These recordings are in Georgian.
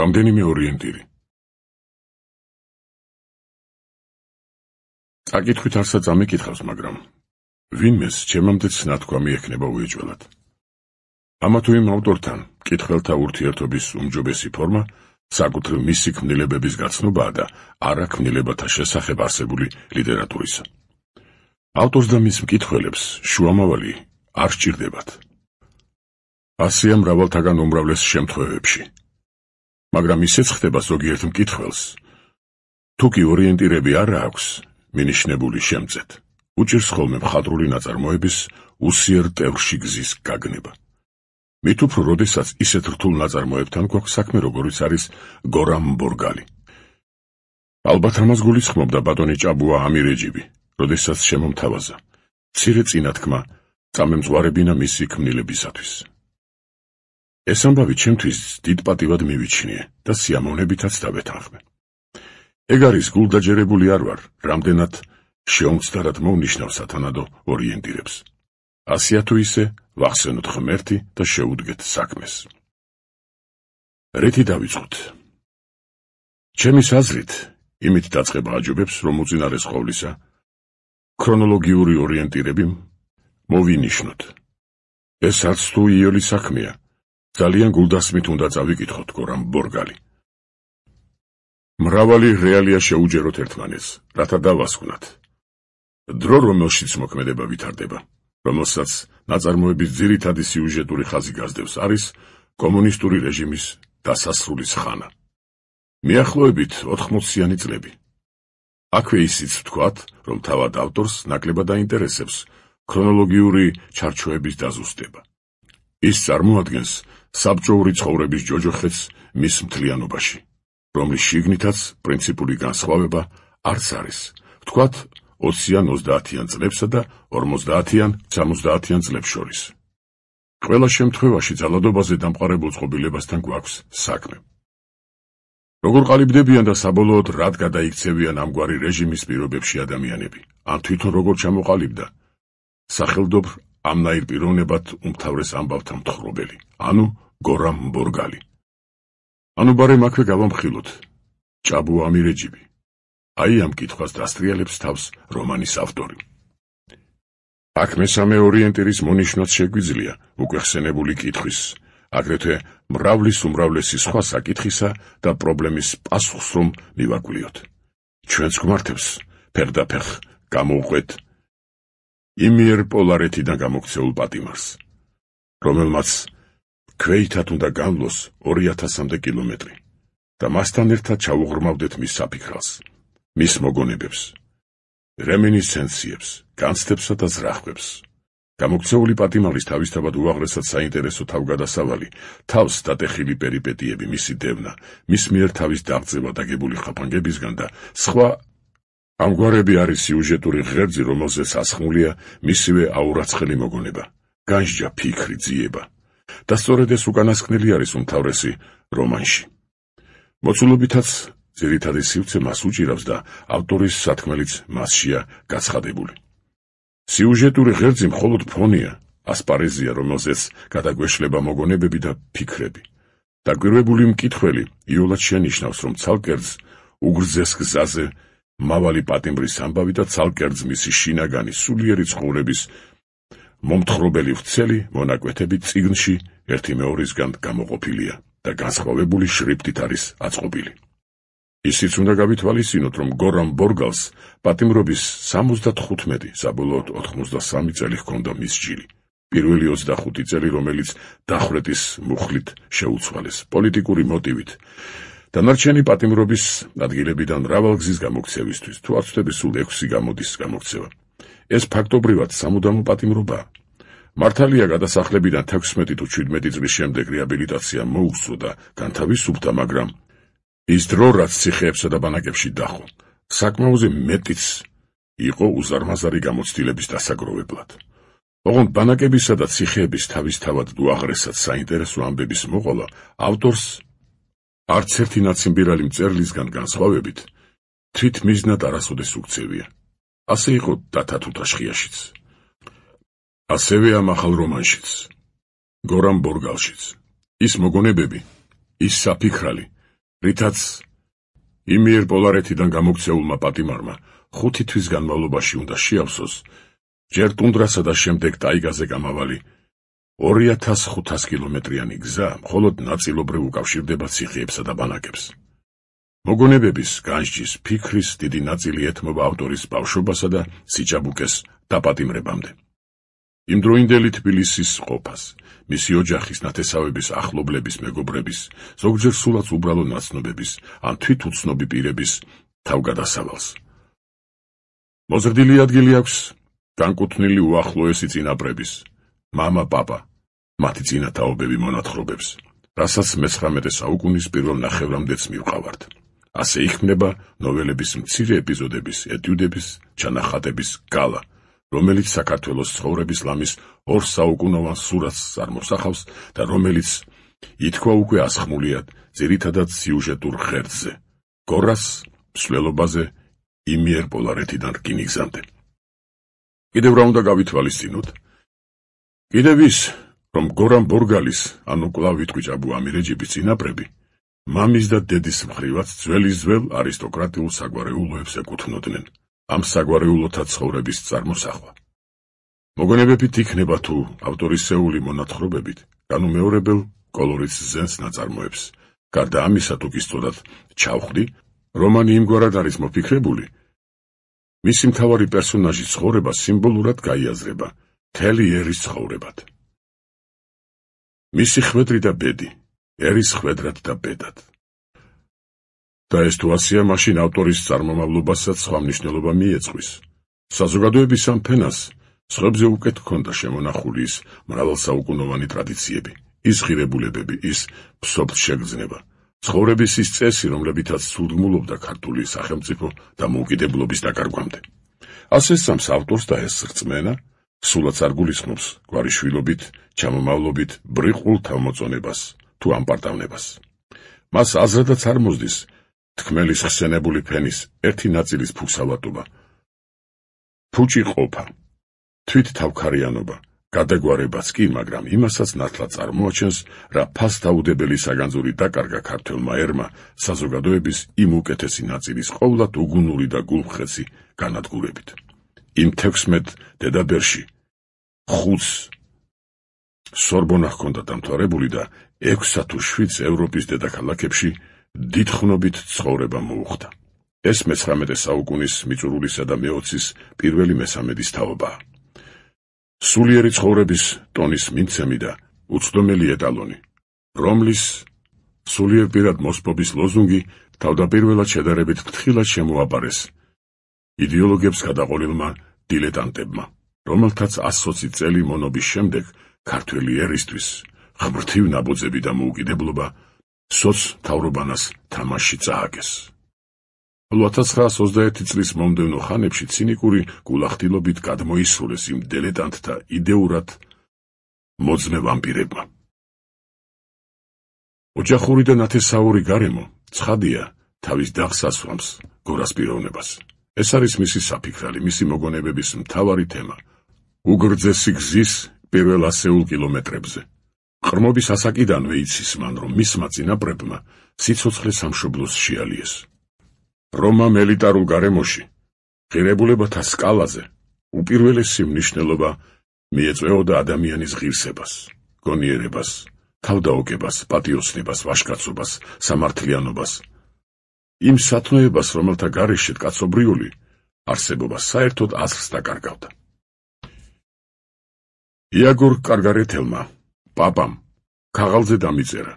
რამდენიმე ორიენტირი. წაკითხვით არსაც ამიკითხავს, მაგრამ ვინმეს ჩემამდეც ნათქვამი ექნება უეჭველად. ამა თუ იმ ავტორთან მკითხველთა ურთიერთობის უმჯობესი ფორმა საკუთრივ მისი ქმნილებების გაცნობაა და არა ქმნილებათა შესახებ არსებული ლიტერატურისა. ავტორს და მის მკითხველებს შუამავალი არ სჭირდებათ. ასეა მრავალთაგან უმრავლეს შემთხვევებში. მაგრამ ისეც ხდება ზოგიერთ მკითხველს, თუ კი ორიენტირები არ აქვს მინიშნებული შემწეთ, უჭირს ხოლმე მხატვრული ნაწარმოების უსიერ ტევრში გზის გაგნება. მით უფრო, როდესაც ისეთ რთულ ნაწარმოებთან გვაქვს საქმე, როგორიც არის გორამ ბორგალი. ალბათ ამას გულისხმობდა ბატონი ჭაბუა ამირეჯიბი, როდესაც შემომთავაზა მცირე წინათქმა წამემძღვარებინა მისი ქმნილებისათვის. ეს ამბავი ჩემთვის დიდ პატივად მივიჩნიე და სიამოვნებითაც დავეთანხმე. ეგ არის გულდაჯერებული არ ვარ, რამდენად შეუმცდარად მოვნიშნავ სათანადო ორიენტირებს. ასეა თუ ისე, ვახსენოთ ღმერთი და შეუდგეთ საქმეს. რითი დავიწყოთ? ჩემის აზრით, იმით დაწყება აჯობებს, რომ უწინარეს ყოვლისა, ქრონოლოგიური ორიენტირები მოვინიშნოთ. ეს არც თუ იოლი საქმეა, ძალიან გულდასმით უნდა წავიკითხოთ გორამ ბორგალი. მრავალი რეალია შეუჯეროთ ერთმანეთს, რათა დავასკვნათ. დრო, რომელშიც მოქმედება ვითარდება, რომელსაც ნაწარმოების ძირითადი სიუჟეტური ხაზი გასდევს, არის კომუნისტური რეჟიმის დასასრულის ხანა. მიახლოებით 80-იანი წლები. აქვე ისიც ვთქვათ, რომ თავად ავტორს ნაკლებად აინტერესებს ქრონოლოგიური ჩარჩოების დაზუსტება. ის წარმოადგენს საბჭოური ცხოვრების ჯოჯოხეთს მის მთლიანობაში, რომლის შიგნითაც პრინციპული განსხვავება არც არის. ვთქვათ 20-იან 30-იან წლებსა და 50-იან 70-იან წლებს შორის. ყველა შემთხვევაში ძალადობაზე დამყარებულ წყობილებასთან გვაქვს საქმე. როგორ ყალიბდებიან და საბოლოოდ რად გადაიქცევიან ამგვარი რეჟიმის პირობებში ადამიანები, ან თვითონ როგორ ჩამოყალიბდა სახელდობრ ამნაირ პიროვნებად უმთავრეს ამბავთა მთხრობელი, ანუ გორამ ბორგალი. ანუ ბარემ აქვე გავამხილოთ ჭაბუა ამირეჯიბი. აი ამ კითხვას დასტრიალებს თავს რომანის ავტორი. აქ მესამე ორიენტირის მონიშნვაც შეგვიძლია უკვე ხსენებული კითხვის, აგრეთვე მრავლის უმრავლესი სხვა საკითხისა და პრობლემის პასუხს რომ მივაკვლიოთ. ჩვენს გვმართებს ფეხდაფეხ გამოვყვეთ იმიერ პოლარეთიდან გამოქცეულ პატიმარს, რომელმაც ქვეითად უნდა განვლოს 2000-მდე კილომეტრი და მასთან ერთად ჩაუღრმავდეთ მის საფიქრალს, მის მოგონებებს, რემინისცენციებს, განცდებსა და ზრახვებს. გამოქცეული პატიმარის თავისთავად უაღრესად საინტერესო თავგადასავალი, თავს დატეხილი პერიპეტიები, მისი დევნა, მის მიერ თავის დაღწევა დაგებული ხაფანგებისგან და სხვა ამგვარები არის სიუჟეტური ღერძი, რომელზეც ასხმულია მისივე აურაცხელი მოგონება, განსჯა ფიქრი, ძიება. და სწორედ ეს უკანასკნელი არის უმთავრესი რომანში. მოცულობითაც ძირითადი სივრცე მას უჭირავს და ავტორის სათქმელიც მასშია გაცხადებული. სიუჟეტური ღერძი მხოლოდ ფონია, ასპარეზია, რომელზეც გადაგვეშლება მოგონებები და ფიქრები. დაკვირვებული მკითხველი იოლად შენიშნავს, რომ ცალკერძ უგრძეს გზაზე მავალი პატიმრის ამბავი და ცალკერძ მისი შინაგანი სულიერი ცხოვრების მომთხრობელი ვრცელი მონაკვეთები წიგნში ერთი მეორისგან გამოყოფილია და განსხვავებული შრიფტით არის აწყობილი. ისიც უნდა გავითვალისწინოთ, რომ გორამ ბორგალს პატიმრობის 75, საბოლოოდ 83 წელი ჰქონდა მის ჯილი. პირველი 25 წელი, რომელიც დახვრეტის მუხლით შეუცვალეს, პოლიტიკური მოტივით. დანარჩენი პატიმრობის ადგილებიდან მრავალგზის გამოქცევისთვის, თუ არ ვცდები სულ 6 გამოდის გამოქცევა. ეს ფაქტობრივად სამუდამო პატიმრობაა. მართალია გადასახლებიდან 16 თუ 17 წლის შემდეგ რეაბილიტაცია მოუხსო და განთავისუფლდა, მაგრამ ის დრო, რაც ციხეებსა და ბანაკებში დახო, საკმაოზე მეტიც იყო უზარმაზარი გამოცდილების დასაგროვებლად. ოღონდ ბანაკებისა და ციხეების თავისთავად უაღრესად საინტერესო ამბების მოყოლა ავტორს არც ერთი ნაციმბირალი მწერლისგან განსხვავებით თვით მიზნად არასოდეს უქცევია. ასე იყო დათა თუთაშხიაშიც. ასევე ამ ახალ რომანშიც, გორამ ბორგალშიც. ის მოგონებები, ის საფიქრალი, რითაც იმიერ პოლარეთიდან გამოქცეულმა პატიმარმა 5 თვის განმავლობაში უნდა შეავსოს ჯერ ტუნდრასა და შემდეგ ტაიგაზე გამავალი 2500 კილომეტრიანი გზა მხოლოდ ნაწილობრივ უკავშირდება ციხეებსა და ბანაკებს. მოგონებების, განსჯის, ფიქრის დიდი ნაწილი ეთმობა ავტორის ბავშვობასა და სიჭაბუკეს დაპატიმრებამდე. იმდროინდელი თბილისის ყოფას, მისი ოჯახის, ნათესავების, ახლობლების, მეგობრების, ზოგჯერ სულაც უბრალო ნაცნობების, ან თვითუცნობი პირების თავგადასავალს. მოზრდილი ადგილი აქვს განკუთვნილი უახლოესი წინაპრების, მამა, პაპა, მათი წინათაობები მონათხრობებს, რასაც 19 საუკუნის პირველ ნახევრამდეც მივყავართ. ასე იქმნება ნოველების მცირე ეპიზოდების, ეტიუდების, ჩანახატების გალა, რომელიც საქართველოს ცხოვრების ლამის 2 საუკუნოვან სურათს წარმოსახავს და რომელიც ითქვა უკვე ასხმულიად ძირითადად სიუჟეტურ ღერძზე, გორას მსვლელობაზე იმიერ პოლარეთიდან რკინიგზამდე. კიდევ რა უნდა გავითვალისწინოთ? კიდევ ის, რომ გორამ ბორგალის, ანუ კვლავ ვიტყვი ჭაბუ ამირეჯიბის წინაპრები, მამის და დედის მხრივაც ძველ არისტოკრატიულ საგვარეულოებს ეკუთვნოდნენ, ამ საგვარეულოთა ცხოვრების წარმოსახვა. მოგონებებით იქნება თუ ავტორისეული მონათხრობებით განუმეორებელ კოლორიტს ზენს ნაწარმოებს. გარდა ამისა, თუ გისწოდათ ჩავხვდი, რომანი იმგვარად არის მოფიქრებული, მისი მთავარი პერსონაჟის ცხოვრება სიმბოლურად გაიაზრება მთელი ერის ცხოვრებად. მისი ხვედრი და ბედი, ერის ხვედრად და ბედად. და ეს თუ ასია, მაშინ ავტორის წარმომავლობასაც სხვა მნიშვნელობა მიეძღვის. საზოგადოების ამ ფენას სხვებზე უკეთ ჰქონდა შემონახული ის მრავალსაუკუნოვანი ტრადიციები, ის ღირებულებები, ის ფსობთ-შეგრძნება, ცხოვრების ის წესი, რომლებითაც სულდმულობდა ქართული სახელმწიფო დამოუკიდებლობის დაკარგვამდე. ასე სწამს ავტორს და ეს რწმენა სულაც არ გულისხმობს გვარიშვილობით, ჩამომავლობით ბრიყულ თავმოწონებას თუ ამპარტავნებას. მას აზრადაც არ მოსდის თქმელის ხსენებული ფენის ერთი ნაწილის ფუქსავატობა, ფუჭი ყოფა, თვით თავქარიანობა, გადაგვარებაც კი, მაგრამ იმასაც ნათლად წარმოაჩენს, რა ფასდაუდებელი საგანძური დაკარგა ქართველმა ერმა საზოგადოების იმ უკეთესი ნაწილის ყოვლად უგუნური და გულმხეცი განადგურებით. იმ 16 დედაბერში 5 სორბონა ჰქონდა დამთავრებული და 6 თუ 7 ევროპის დედაქალაქებში დიდხნობით ცხოვრება მოუხდა. ეს 19 საუკუნის მიწურულისა და მეოცის პირველი მესამედის თაობაა. სულიერი ცხოვრების ტონის მიმცემი და უცდომელი ეტალონი, რომლის სულიერ პირად მოსპობის ლოზუნგი თავდაპირველად შედარებით ფრთხილად შემოაბარეს იდეოლოგებს გადაყოლილმა დილეტანტებმა, რომელთაც 120 წელი მონობის შემდეგ ქართველი ერისთვის ღმრთივ ნაბოძები და მოუკიდებლობა სოც-მთავრობანას თამაში წააგეს. 1921 წლის მომდევნო ხანებში ცინიკური გულახდილობით გადმოისურეს იმ დილეტანტთა იდეურად მოძმე ვამპირებმა. ოჯახური და ნათესაური გარემო ცხადია თავის დაღს ასვამს გორას პიროვნებას. ეს არის მისი საფიქრალი, მისი მოგონებების მთავარი თემა. უგრძესი გზის პირველ ასეულ კილომეტრებზე. ყრმობის ასაკიდანვე იცის მან, რომ მისმა წინაპრებმა სიცოცხლე სამშობლოს შეალიეს. რომამ ელიტარულ გარემოში, ღირებულებათა სკალაზე, უპირველესი მნიშვნელობა მიეწვეოდა ადამიანის ღირსებას, გონიერებას, თავდაოგებას, პატიოსნებას, ვაჟკაცობას, სამართლიანობას, იმ სათნოებას, რომელთა გარეშე კაცობრიული არსებობა საერთოდ აზრს დაკარგავდა. იაგორ კარგარეთელმა, პაპამ, ქაღალზე დამიწერა,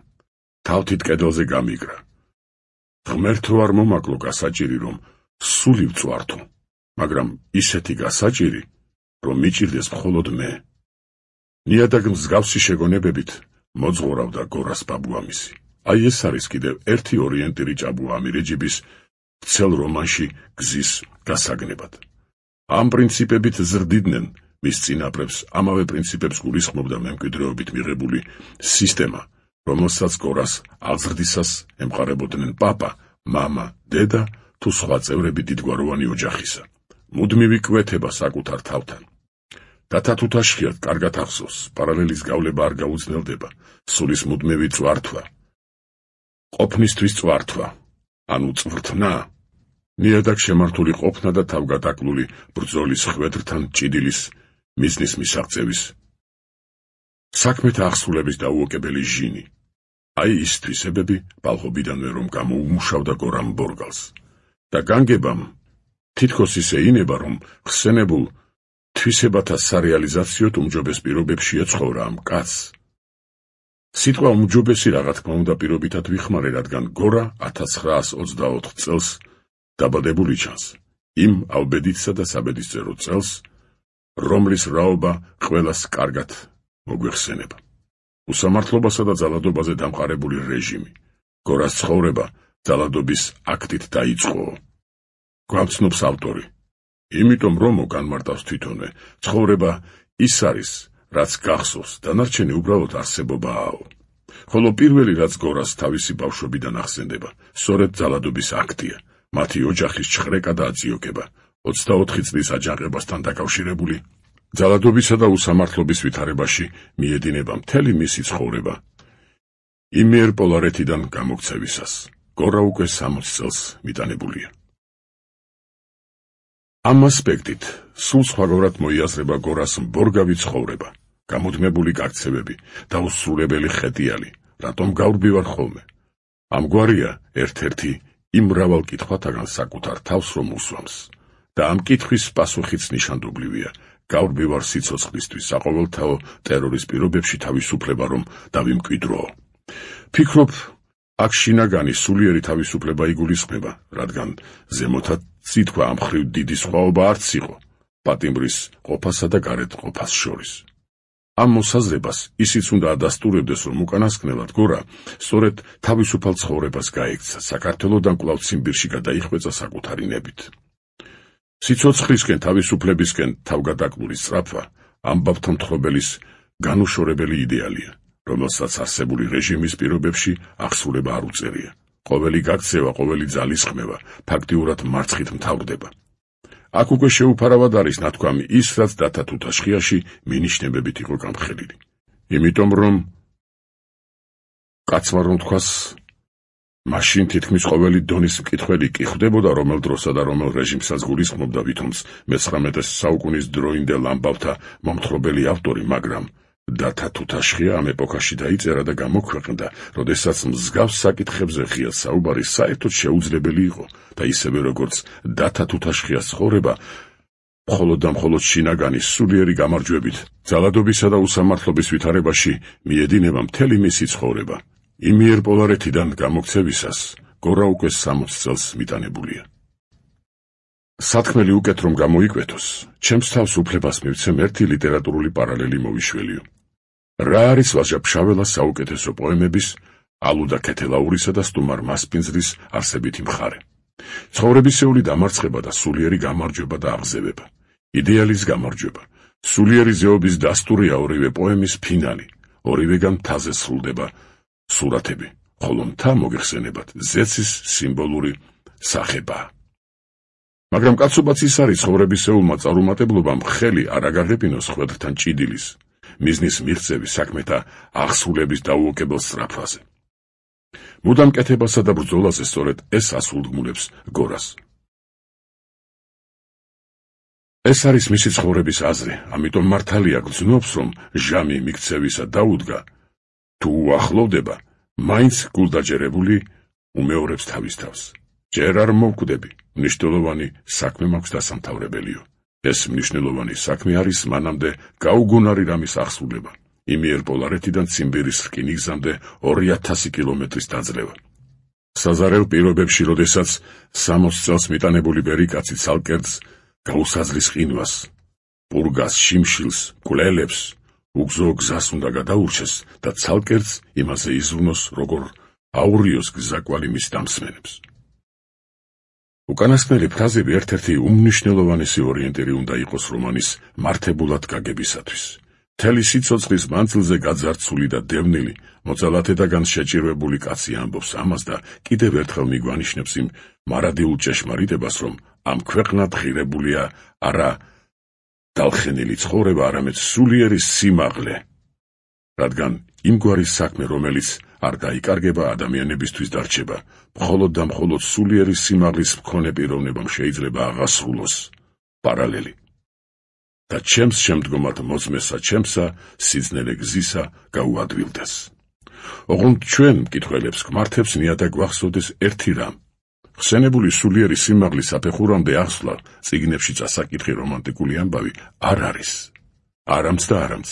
თავთით კედელზე გამიგრა. ღმერთო არ მომაკლო გასაჭირი, რომ სული ვწვართო, მაგრამ ისეთი გასაჭირი, რომ მიჭირდეს მხოლოდ მე. ნიადაგ მსგავსი შეგონებებით მოძღორავდა გორას ბაბუამისი. აი ეს არის კიდევ ერთი ორიენტირი ჭაბუ ამირეჯიბის ცელ რომანში გზის გასაგნებად. ამ პრინციპებით ზრდიდნენ მის წინაპრებს, ამავე პრინციპებს გულისხმობდა მემკვიდრეობით მიღებული სისტემა, რომელსაც გორას აღზრდისას ემყარებოდნენ პაპა, მამა, დედა თუ სხვა წევრები დიდგვაროვანი ოჯახისა. მუდმივი კვეთება საკუთარ თავთან. დათა თუთაშხიად კარგად ახსოვს, პარალელის გავლება არ გაუძნელდება, სულის მუდმივი წვართვა. ყოფნისთვის წვართვა, ანუ წვრთნა, ნიადაგ შემართული ყოფნა და თავგადაკლული ბრძოლის ხვედრთან ჭიდილის მიზნის მისაღწევის, საქმეთა აღსრულების დაუოკებელი ჟინი. აი ის თვისებები ბალღობიდანვე რომ გამოუმუშავდა გორამ ბორგალს და განგებამ თითქოს ისე ინება, რომ ხსენებულ თვისებათა სარეალიზაციოდ უმჯობეს პირობებშია ცხოვრა ამ კაცს. სიტყვა უმჯობესი რა თქმა უნდა პირობითად ვიხმარე, რადგან გორა 1924 წელს დაბადებული ჩანს, იმ ალბედიცსა და საბედისწერო წელს, რომლის რაობა ყველას კარგად მოგვეხსენება. უსამართლობასა და ძალადობაზე დამყარებული რეჟიმი, გორას ცხოვრება ძალადობის აქტით დაიწყო. გვამცნობს ავტორი, იმიტომ რომ განმარტავს თვითონვე, ცხოვრება ის არის, რაც გახსოვს, დანარჩენი უბრალოდ არსებობაა. ხოლო პირველი, რაც გორას თავისი ბავშვობიდან ახსენდება, სწორედ ძალადობის აქტია, მათი ოჯახის ჩხრეკა და აწიოკება, 24 წლის აჯანყებასთან დაკავშირებული. ძალადობისა და უსამართლობის ვითარებაში მიედინება მთელი მისი ცხოვრება. იმიერ პოლარეთიდან გამოქცევისას, გორა უკვე 60 წელს მიტანებულია. ამ ასპექტით სულ სხვაგვარად მოიაზრება გორას ბორგავი ცხოვრება, გამუდმებული გაქცევები, დაუსრულებელი ხეტიალი, რატომ გავრბივარ ხოლმე. ამგვარია ერთ-ერთი იმ მრავალ კითხვათაგან საკუთარ თავს რომ უსვამს და ამ კითხვის პასუხიც ნიშანდობლივია. გავრბივარ სიცოცხლისთვის, საყოველთაო ტერორის პირობებში თავისუფლება რომ დავიმკვიდროო. ფიქრობ, აქ შინაგანი სულიერი თავისუფლება იგულისხმება, რადგან ზემოთაც სიტყვა ამ მხრივ დიდი სხვაობა არც იყო პატიმრის ყოფასა და გარეთ ყოფას შორის. ამ მოსაზრებას ისიც უნდა ადასტურებდეს, რომ უკანასკნელად გორა სწორედ თავისუფალ ცხოვრებას გაექცა, საქართველოდან კვლავ ციმბირში გადაიხვეწა საკუთარი ნებით. სიცოცხლისკენ, თავისუფლებისკენ თავგადაკლული სწრაფვა ამბავთა მთხრობელის განუშორებელი იდეალია, რომელსაც არსებული რეჟიმის პირობებში აღსრულება არ უწერია. ყოველი გაქცევა, ყოველი ძალისხმევა ფაქტიურად მარცხით მთავრდება. აქ უკვე შეუფარავად არის ნათქვამი ის, რაც დათა თუთაშხიაში მინიშნებებით იყო გამხელილი. იმიტომ რომ კაცმა რომ თქვას, მაშინ თითქმის ყოველი დონის მკითხველი კი ხვდებოდა რომელ დროსა და რომელ რეჟიმსაც გულისხმობდა ვითომც მე-19 საუკუნის დროინდელ ამბავთა მომთხრობელი ავტორი, მაგრამ დათა თუთაშხია ამ ეპოქაში დაიწერა და გამოქვეყნდა, როდესაც მსგავს საკითხებზე ღია საუბარი საერთოდ შეუძლებელი იყო და ისევე როგორც დათა თუთაშხიას ცხოვრება მხოლოდ და მხოლოდ შინაგანი სულიერი გამარჯვებით ძალადობისა და უსამართლობის ვითარებაში მიედინება მთელი მისი ცხოვრება. იმიერ პოლარეთიდან გამოქცევისას გორა უკვე 60 წელს მიტანებულია. სათქმელი უკეთ რომ გამოიკვეთოს, ჩემს თავს უფლებას მივცემ ერთი ლიტერატურული პარალელი მოვიშველიო. რა არის ვაჟა-ფშაველას საუკეთესო პოემების, ალუდა ქეთელაურისა და სტუმარ მასპინძლის არსებითი მხარე. ცხოვრებისეული დამარცხება და სულიერი გამარჯვება და აღზევება. იდეალის გამარჯვება. სულიერი ზეობის დასტურია ორივე პოემის ფინალი. ორივეგან მთაზე სრულდება სურათები, ხოლო მთა მოგეხსენებათ ზეცის სიმბოლური სახება. მაგრამ კაცობაც ის არის ცხოვრებისეულმა წარუმატებლობამ ხელი არ აგაღებინოს ხვედრთან ჭიდილის, მიზნის მიღწევის საქმეთა აღსრულების დაუოკებელ სწრაფვაზე. მუდამ კეთებასა და ბრძოლაზე სწორედ ეს ასულდგმულებს გორას. ეს არის მისი ცხოვრების აზრი, ამიტომ მართალია გრძნობს, რომ ჟამი მიქცევისა დაუდგა, თუ უახლოვდება, მაინც გულდაჯერებული უმეორებს თავის თავს. ჯერ არ მოვკვდები, მნიშვნელოვანი საქმე მაქვს დასამთავრებელიო. ეს მნიშვნელოვანი საქმე არის მანამდე გაუგუნარი რამის აღსრულება. იმიერ პოლარეთიდან ციმბირის რკინიგზამდე 2000 კილომეტრის დაძლევა. საზარელ პირობებში, როდესაც 60 წელს მიტანებული ბერიკაცი ცალკერძ გაუსაზრის ყინვას, პურგას, შიმშილს, მკვლელებს, უგზო გზას უნდა გადაურჩეს და ცალკერძ იმაზე იზრუნოს, როგორ აურიოს გზაკვალი მის დამსმენებს. უკანასკნელი ფრაზები ერთ-ერთი უმნიშვნელოვანესი ორიენტირი უნდა იყოს რომანის მართებულად გაგებისათვის. მთელი სიცოცხლის მანძილზე გაძარცული და დევნილი, მოწალათედაგან შეჭირვებული კაცი ამბობს ამას და კიდევ ერთხელ მიგვანიშნებს იმ მარადიულ ჭეშმარიტებას, რომ ამ ქვეყნად ღირებულია არა დალხენილი ცხოვრება, არამედ სულიერი სიმაღლე, რადგან იმგვარი საქმე, რომელიც არ გაიკარგება ადამიანებისთვის დარჩება, მხოლოდ და მხოლოდ სულიერი სიმაღლის მქონე პიროვნებამ შეიძლება აღასრულოს პარალელი. და ჩემს შემდგომად მოწმესა ჩემსა, სიძნელე გზისა გაუადვილდეს. ოღონდ ჩვენ მკითხველებს გვმართებს ნიადაგ გვახსოვდეს ერთი რამ. ხსენებული სულიერი სიმაღლის საფეხურამდე ახსვლა წიგნებში წასაკითხი რომანტიკული ამბავი არ არის. არამც და არამც.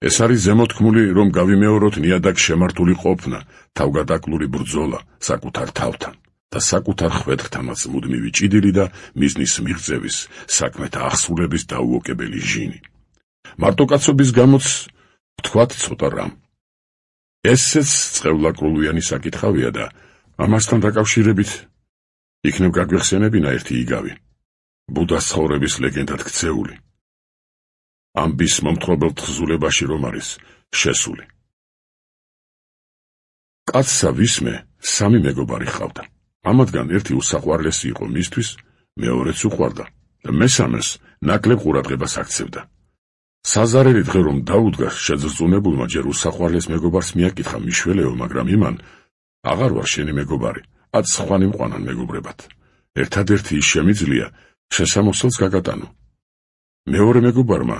ეს არის ზემოთქმული, რომ გავიმეოროთ ნიადაგ შემართული ყოფნა, თავგადაკლული ბრძოლა საკუთარ თავთან და საკუთარ ხვედრთანაც მუდმივი ჭიდილი და მიზნის მიღწევის, საქმეთა აღსრულების დაუოკებელი ჟინი. მარტოკაცობის გამოც ვთქვათ ცოტა რამ. ესეც წყევლაკრულვიანი საკითხავია და ამასთან დაკავშირებით იქნებ გაგვეხსენებინა ერთი იგავი, ბუდას ცხოვრების ლეგენდად ქცეული. ამბის მომთხრობელ თხზულებაში რომ არის შესული. კაცსა ვისმე 3 მეგობარი ჰყავდა. ამათგან ერთი უსაყვარლესი იყო მისთვის, მეორეც უყვარდა და მესამეს ნაკლებ ყურადღებას აქცევდა. საზარელი დღე რომ დაუდგა, შეძრწუნებულმა ჯერ უსაყვარლეს მეგობარს მიაკითხა მიშველეო, მაგრამ იმან აღარ ვარ შენი მეგობარი, აც სხვანი მყვანან მეგობრებად. ერთადერთი ის შემიძლია შესამოსელს გაგატანო. მეორე მეგობარმა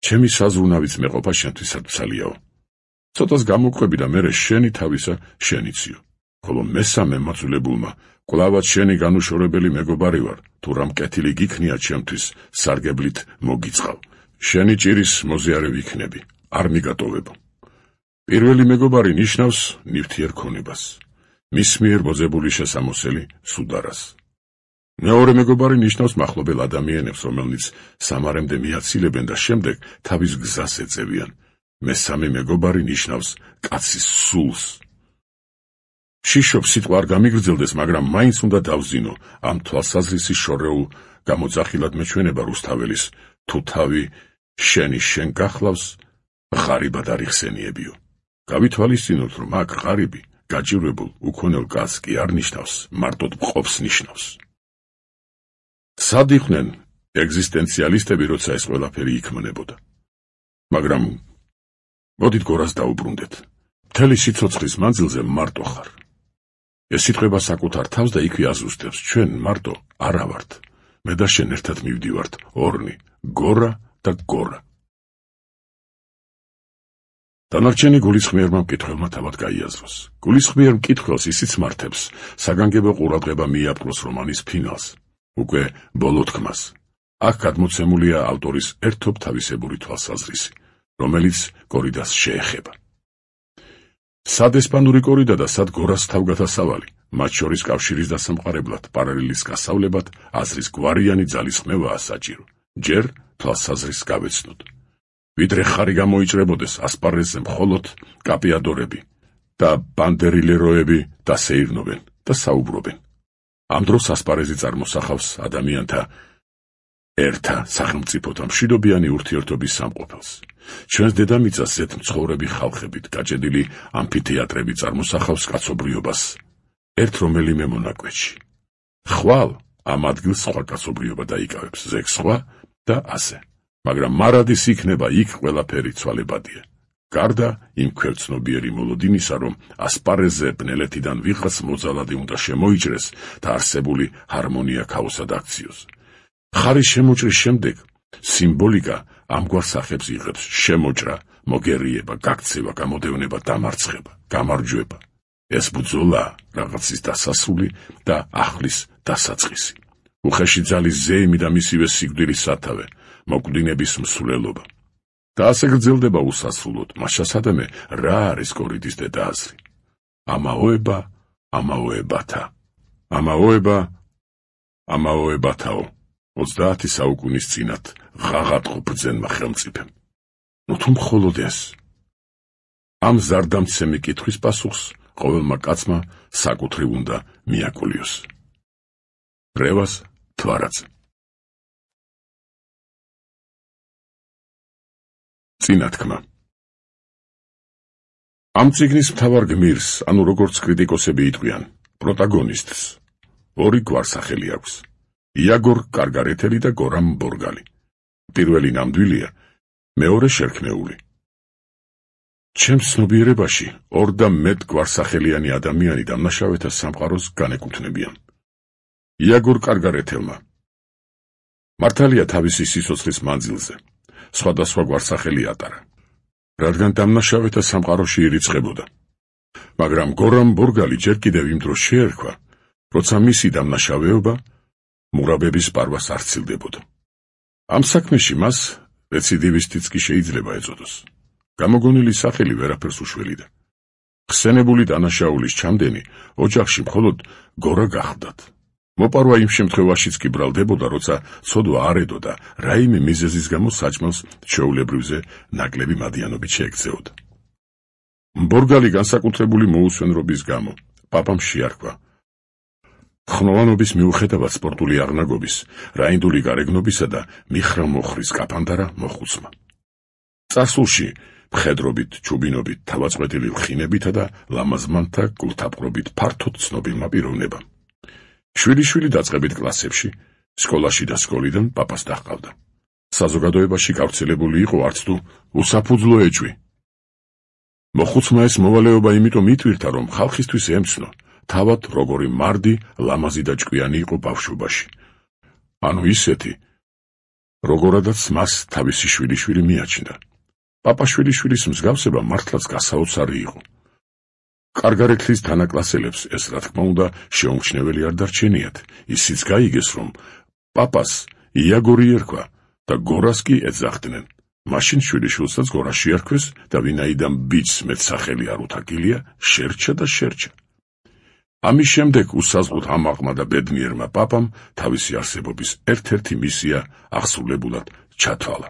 ჩემი საზრუნავიც მეყოფა შენთვის სათვალიაო. ცოტას გამოკვები და მერე შენი თავისა შენიციო. ხოლო მესამე მაწულებულმა კვლავაც შენი განუშორებელი მეგობარი ვარ, თუ რამ კეთილი გიქნია ჩემთვის სარგებლით მოგიწყავ. შენი ჭირის მოზიარე ვიქნები, არ მიგატოვებო. პირველი მეგობარი ნიშნავს ნივთიერ ქონებას, მის მიერ მოძებული შესამოსელი სუდარას. მეორე მეგობარი ნიშნავს მახლობელ ადამიანებს, რომელნიც სამარემდე მიაცილებენ და შემდეგ თავის გზას ეწევიან. მესამე მეგობარი ნიშნავს კაცის სულს. შიშობს სიტყვა არ გამიგრძელდეს, მაგრამ მაინც უნდა დავზინო ამ თვალსაზრისის შორეულ გამოძახილად მეჩვენება რუსთაველის, თუ თავი შენი შენ გახლავს, ღარიბად არ იხსენიებიო. გავითვალისწინოთ, რომ აქ ღარიბი, გაჭირვებულ, უქონელ კაცს კი არ ნიშნავს, მარტოდ მყოფს ნიშნავს. სად იყვნენ ეგზისტენციალისტები, როცა ეს ყველაფერი იქმნებოდა? მაგრამ მოდით გორას დაუბრუნდეთ. მთელი სიცოცხლის მანძილზე მარტო ხარ. ეს სიტყვა საკუთარ თავს და იქვე აზუსტებს, ჩვენ მარტო არა ვართ. მე და შენ ერთად მივდივართ, ორნი, გორა და გორა. დანარჩენი გულისხმიერმა მკითხველმა თავად გაიაზროს. გულისხმიერ მკითხველს ისიც მართებს, საგანგებო ყურადღება მიაპყროს რომანის ფინალს, უკვე ბოლო თქმას. აქ გადმოცემულია ავტორის ერთობ თავისებური თვალსაზრისი, რომელიც კორიდას შეეხება. სად ესპანური კორიდა და სად გორას თავგადასავალი, მათ შორის კავშირის დასამყარებლად, პარალელის გასავლებად, აზრის გვარიანი ძალისხმევაა საჭირო. ჯერ თვალსაზრის გავეცნოთ. ვიდრე ხარი გამოიჭრებოდეს, ასპარეზზე მხოლოდ კაპიადორები და ბანდერილეროები დასეირნობენ და საუბრობენ. ამ დროს ასპარეზი წარმოსახავს ადამიანთა ერთა სახელმწიფოთა მშვიდობიანი ურთიერთობის სამყოფელს. ჩვენს დედამიწას ზეთმცხოვრები ხალხებით გაჭედილი ამფითეატრები წარმოსახავს კაცობრიობას ერთ რომელიმე მონაკვეთში. ხვალ ამ ადგილს სხვა კაცობრიობა დაიკავებს, ზეგ სხვა და ასე. მაგრამ მარადის იქნება იქ ყველაფერი ცვალებადია. გარდა იმ ქვევცნობიერი მოლოდინისა, რომ ასპარეზზე ბნელეთიდან ვიღაც მოძალადი უნდა შემოიჭრეს და არსებული ჰარმონია ქაოსად აქციოს. ხარის შემოჭრის შემდეგ სიმბოლიკა ამგვარ სახებს იღებს: შემოჭრა, მოგერიება, გაქცევა, გამოდევნება, დამარცხება, გამარჯვება. ეს ბრძოლა რაღაცის დასასრული და ახლის დასაწყისი. უხეში ძალის ზეიმი და მისივე სიკვდილის სათავე, მოკვდინების მსვლელობა. და ასე გრძელდება უსასრულოდ. მას შესადამე რა არის კორიდის დედააზრი? ამაოება, ამაოებათა. ამაოებათაო. 30 საუკუნის წინათ ღაღატყო ბრძენმა ხელმწიფემ. ნუ თუ მხოლოდ ეს. ამ ზარდამცემი კითხვის პასუხს ყოველმა კაცმა საკუთრივ უნდა მიაკულიოს. რევას თვარაძე. წინათქმა. ამ წიგნის მთავარ გმირს, ანუ როგორც კრიტიკოსები იტყვიან, პროტაგონისტს, ორი გვარსახელი აქვს: იაგორ კარგარეთელი და გორამ ბორგალი. პირველი ნამდვილია, მეორე შერქმეული. ჩემს ცნობიერებაში 2 და მეტ გვარსახელიანი ადამიანი დამნაშავეთა სამყაროს განეკუთვნებიან. იაგორ კარგარეთელმა მართალია თავისი სიცოცხლის მანძილზე სხვადასხვა გვარსახელი ატარა, რადგან დამნაშავეთა სამყაროში ირიცხებოდა. მაგრამ გორამ ბორგალი ჯერ კიდევ იმ დროს შეერქვა, როცა მისი დამნაშავეობა მურაბების პარვას არ სცილდებოდა. ამ საქმეში მას რეციდივისტიც კი შეიძლება ეწოდოს. გამოგონილი სახელი ვერაფერს უშველიდა. ხსენებული დანაშაულის ჩამდენი ოჯახში მხოლოდ გორა გახდათ. მოპარვა იმ შემთხვევაშიც კი ბრალდებოდა, როცა ცოდვა არ ედო და რაიმე მიზეზის გამო საჭმელს ჩვეულებრივზე ნაკლები მადიანობით შეექცეოდა. ბორგალი განსაკუთრებული მოუსვენრობის გამო პაპამ შეარქვა. ხნოვანობის მიუხედავად სპორტული აღნაგობის, რაინდული გარეგნობისა და მიხრა-მოხრის კაფანდარა მოხუცმა. წარსულში მხედრობით, ჩუბინობით, თავაწყვეტილი ლხინებითა და ლამაზმანთა გულთაპყრობით ფართოდ ცნობილმა პიროვნებამ. შვილი-შვილი დაწყებით კლასებში, სკოლაში და სკოლიდან პაპას დაჰყავდა. საზოგადოებაში გავრცელებული იყო არც თუ უსაფუძვლო ეჭვი. მოხუცმა ეს მოვალეობა იმიტომ იტვირთა, რომ ხალხისთვის ემცნო, თავად როგორი მარდი, ლამაზი და ჭკვიანი იყო ბავშვობაში. ანუ ისეთი, როგორადაც მას თავისი შვილი-შვილი მიაჩნდა. პაპა შვილიშვილის მსგავსება მართლაც გასაოცარი იყო. კარგარეთლის თანაკლასელებს ეს, რა თქმა უნდა, შეუმჩნეველი არ დარჩენიათ. ისიც გაიგეს, რომ პაპას იაგორი ერქვა და გორას კი ეძახდნენ. მაშინ შვილიშვილსაც გორა შეარქვეს და ვინაიდან ბიჭს მეტსახელი არ უთაკილია, შერჩა და შერჩა. ამის შემდეგ უსაზღვროდ ამაყმა და ბედნიერმა პაპამ თავისი არსებობის ერთ-ერთი მისია აღსრულებულად ჩათვალა.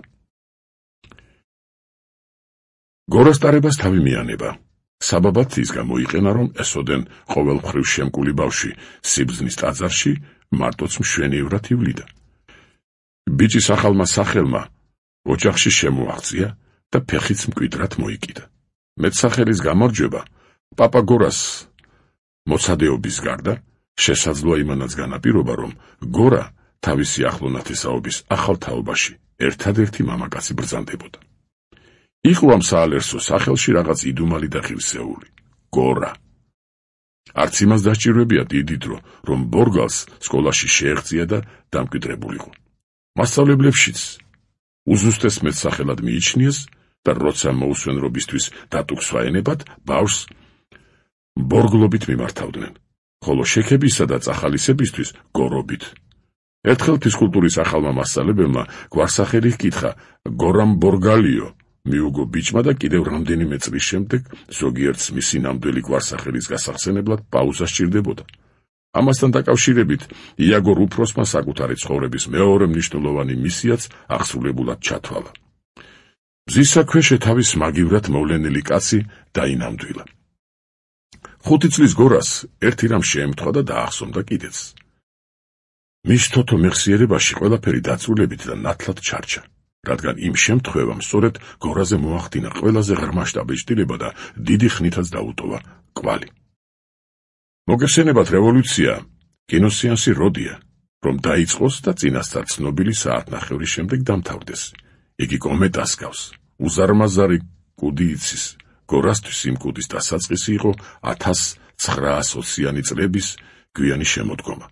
გორას ტარებას თავი მიანება. საბაბად ის გამოიყენა, რომ ესოდენ ყოველმხრივ შემკული ბავშვი სიბრძნის ტაძარში მარტოც მშვენივრად ივლიდა. ბიჭის ახალმა სახელმა ოჯახში შემოაღწია და ფეხიც მკვიდრად მოიკიდა. მეტსახელის გამარჯვება პაპა გორას მოცადეობის გარდა შესაძლოა იმანაც განაპირობა, რომ გორა თავისი ახლო ნათესაობის ახალ თაობაში ერთადერთი მამაკაცი ბრძანდებოდა. იყო ამ საალერსო სახელში რაღაც იდუმალი და ღირსეული გორა. არც იმას დასჭირვებია დიდი დრო, რომ ბორგალს სკოლაში შეეღწია და დამკვიდრებულიყო. მასწავლებლებშიც უზუსტეს მეტსახელად მიიჩნიეს და როცა მოუსვენრობისთვის დატუქს ვაენებად, ბავშვს ბორგლობით მიმართავდნენ, ხოლო შექებისა და წახალისებისთვის გორობით. ერთხელ ფიზკულტურის ახალმა მასწავლებელმა გვარსახელი ჰკითხა გორამ ბორგალიო, მიუგო ბიჭმა და კიდევ რამდენიმე წლის შემდეგ ზოგიერთს მისი ნამდვილი გვარსახელის გასახსენებლად პაუზა სჭირდებოდა. ამასთან დაკავშირებით იაგორ უფროსმა საკუთარი ცხოვრების მეორე მნიშვნელოვანი მისიაც აღსრულებულად ჩათვალა. მზისა ქვეშე თავის მაგივრად მოვლენილი კაცი დაინამდვილა. 5 წლის გორას ერთი რამ შეემთხვა და დაახსოვდა კიდეც. მის თოთო მეხსიერებაში ყველაფერი დაწვრილებით და ნათლად ჩარჩა, რადგან იმ შემთხვევამ სწორედ გორაზე მოახდინა ყველაზე ღრმა შტაბეჭდილება და დიდი ხნითაც დაუტოვა კვალი. მოგეხსენებათ რევოლუცია, კინოსეანსი როდია, რომ დაიწყოს და წინასწარ ცნობილი საათნახევრის შემდეგ დამთავრდეს. იგი კომეტას გავს, უზარმაზარი კუდი იცის. გორასთვის იმ კუდის დასაწყისი იყო 1920-იანი წლების გვიანი შემოდგომა.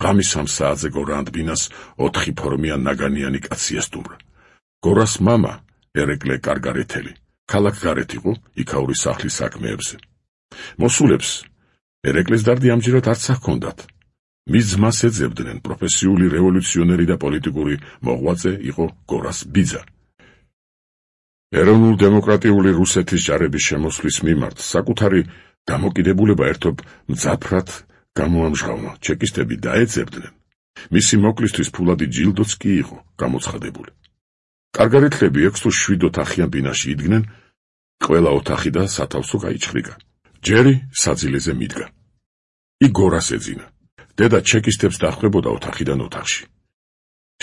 ღამის 3 საათზე გორა ანდბინას 4 ფორმიან ნაგანიანი კაცი ესტუმრა. გორას მამა, ერეკლე კარგარეთელი, ქალაქ გარეთ იყო იქაური სახლის საქმეებზე. მოსულებს ერეკლეს დარდი ამჯერად არც ჰქონდათ. მის ძმას ეძებდნენ, პროფესიული რევოლუციონერი და პოლიტიკური მოღვაწე იყო გორას ბიძა. ეროვნულ-დემოკრატიული რუსეთის ჯარების შემოსვლის მიმართ საკუთარი დამოკიდებულება ერთობ მძაფრად გამოამჟღავნა, ჩეკისტები დაეძებდნენ. მისი მოკლისთვის ფულადი ჯილდოც კი იყო გამოცხადებული. კარგარეთლები 6 თუ 7 ოთახიან ბინაში იდგნენ, ყველა ოთახი და სათავსო გაიჩხრიკა. ჯერი საძილეზე მიდგა. იქ გორას ეძინა. დედა ჩეკისტებს დახვდებოდა ოთახიდან ოთახში.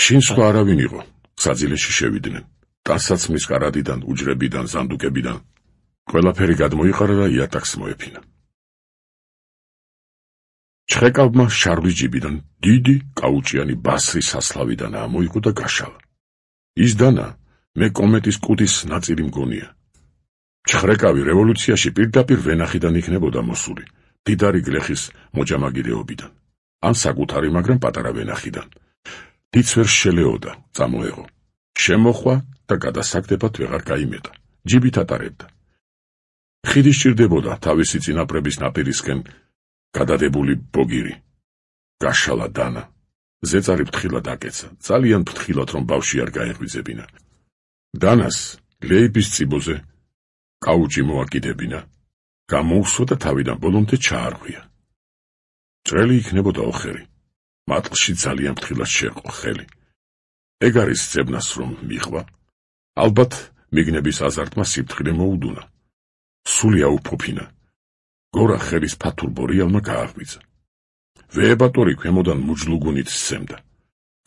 შინ სხვა არავინ იყო, საძილეში შევიდნენ. ტანსაცმლის კარადიდან, უჯრებიდან, ზანდუკებიდან. ყველაფერი გადმოიყარა და იატაკს მოეფინა. ჩხეკავმა შარვის ჯიბიდან დიდი კაუჭიანი ბასრი სასლავიდან ამოიღო და გაშალა. ის დანა, მე კომეტის კუდის ნაწილი მგონია. ჩხრეკავი რევოლუციაში პირდაპირ ვენახიდან იქნებოდა მოსული, დიდარი გლეხის მოჭამაგირეობიდან, ან საკუთარი, მაგრამ პატარა ვენახიდან. დიდს ვერ შელეოდა, წამოეღო. შემოხვა და გადასაგდებად ვეღარ გაიმეტა. ჯიბით ატარებდა. ხიდი სჭირდებოდა თავისი წინაპრების ნაპირისკენ გადადებული ბოგირი. გაშალა დანა. ზეწარი ფრთხილად აკეცა, ძალიან ფრთხილად, რომ ბავშვი არ გაეღვიძებინა. დანას ლეიბის წიბოზე კაუჭი მოაკიდებინა. გამოუსვა და თავიდან ბოლომდე ჩაარღვია. ჭრელი იქნებოდა ოხერი. მატყლში ძალიან ფრთხილად შეყო ხელი. ეგ არის ძებნას რომ მიხვა. ალბათ მიგნების აზარტმა სიფრთხილე მოუდუნა. სული აუფოფინა. გორა ხელის ფათურ ბორიალმა გააღვიძა. ვეებატორი ქვემოდან მუჯლუგუნით სცემდა.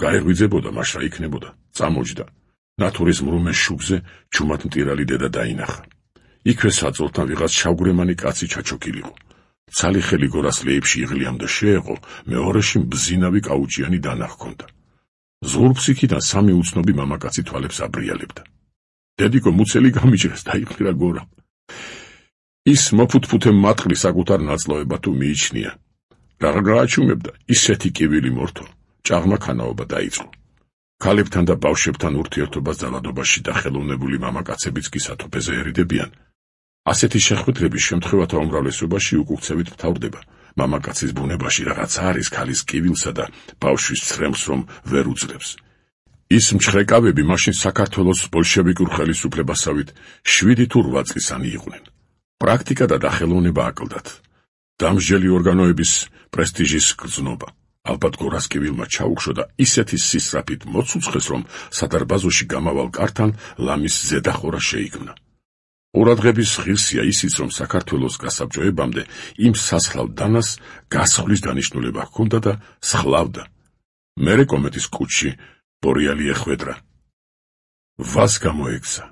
გაეღვიძებოდა, მაშრა იქნებოდა, წამოჯდა. ნათურის მრუმე შუბზე ჩუმად მტირალი დედა დაინახა. იქვე საწოლთან ვიღაც შავგვრემანი კაცი ჩაჩოქილიყო. ცალი ხელი გორას ლეიბში იღლიამდა შეეყო, მეორეში მბზინავი კაუჭიანი დანა ჰქონდა. ზღურბსიქიდან სამი უცნობი მამაკაცი თვალებს აბრიალებდა. დედიკო მუცელი გამიჭრეს დაიხმირა გორამ. ის მოფუთფუთე მატყლი საკუთარ ნაწლავება თუ მიიჩნია. რა გააჩუმებდა, ისეთი კივილი მორთო, ჭაღმა ქანაობა დაიწყო. ქალებთან და ბავშვებთან ურთიერთობას ძალადობაში და ხელოვნებული მამაკაცებიც კი სათოფეზე ერიდებიან. ასეთი შეხვედრების შემთხვევათა უმრავლესობაში უკუქცევით მთავრდება. მამაკაცის ბუნებაში რაღაცა არის ქალის კივილსა და ბავშვის ცრემლს, რომ ვერ უძლებს. ის მჩხრეკავები მაშინ საქართველოს ბოლშევიკურ ხელისუფლებასავით 7 თუ 8 წლისანი იყვნენ. პრაქტიკა და დახელოვნება აკლდათ. დამსჯელი ორგანოების პრესტიჟის გრძნობა. ალბათ გორას კივილმა ჩაუქშო და ისეთი სისწრაფით მოცუცხეს, რომ სადარბაზოში გამავალ კართან ლამის ზედახორა შეიქმნა. ყურადღების ღირსია ისიც, რომ საქართველოს გასაბჭოებამდე იმ სასხლავ დანას გასხლის დანიშნულება ჰქონდა და სხლავდა. მერე კომეთის კუჭში ბორიალი ეხვედრა. ვას გამოექცა.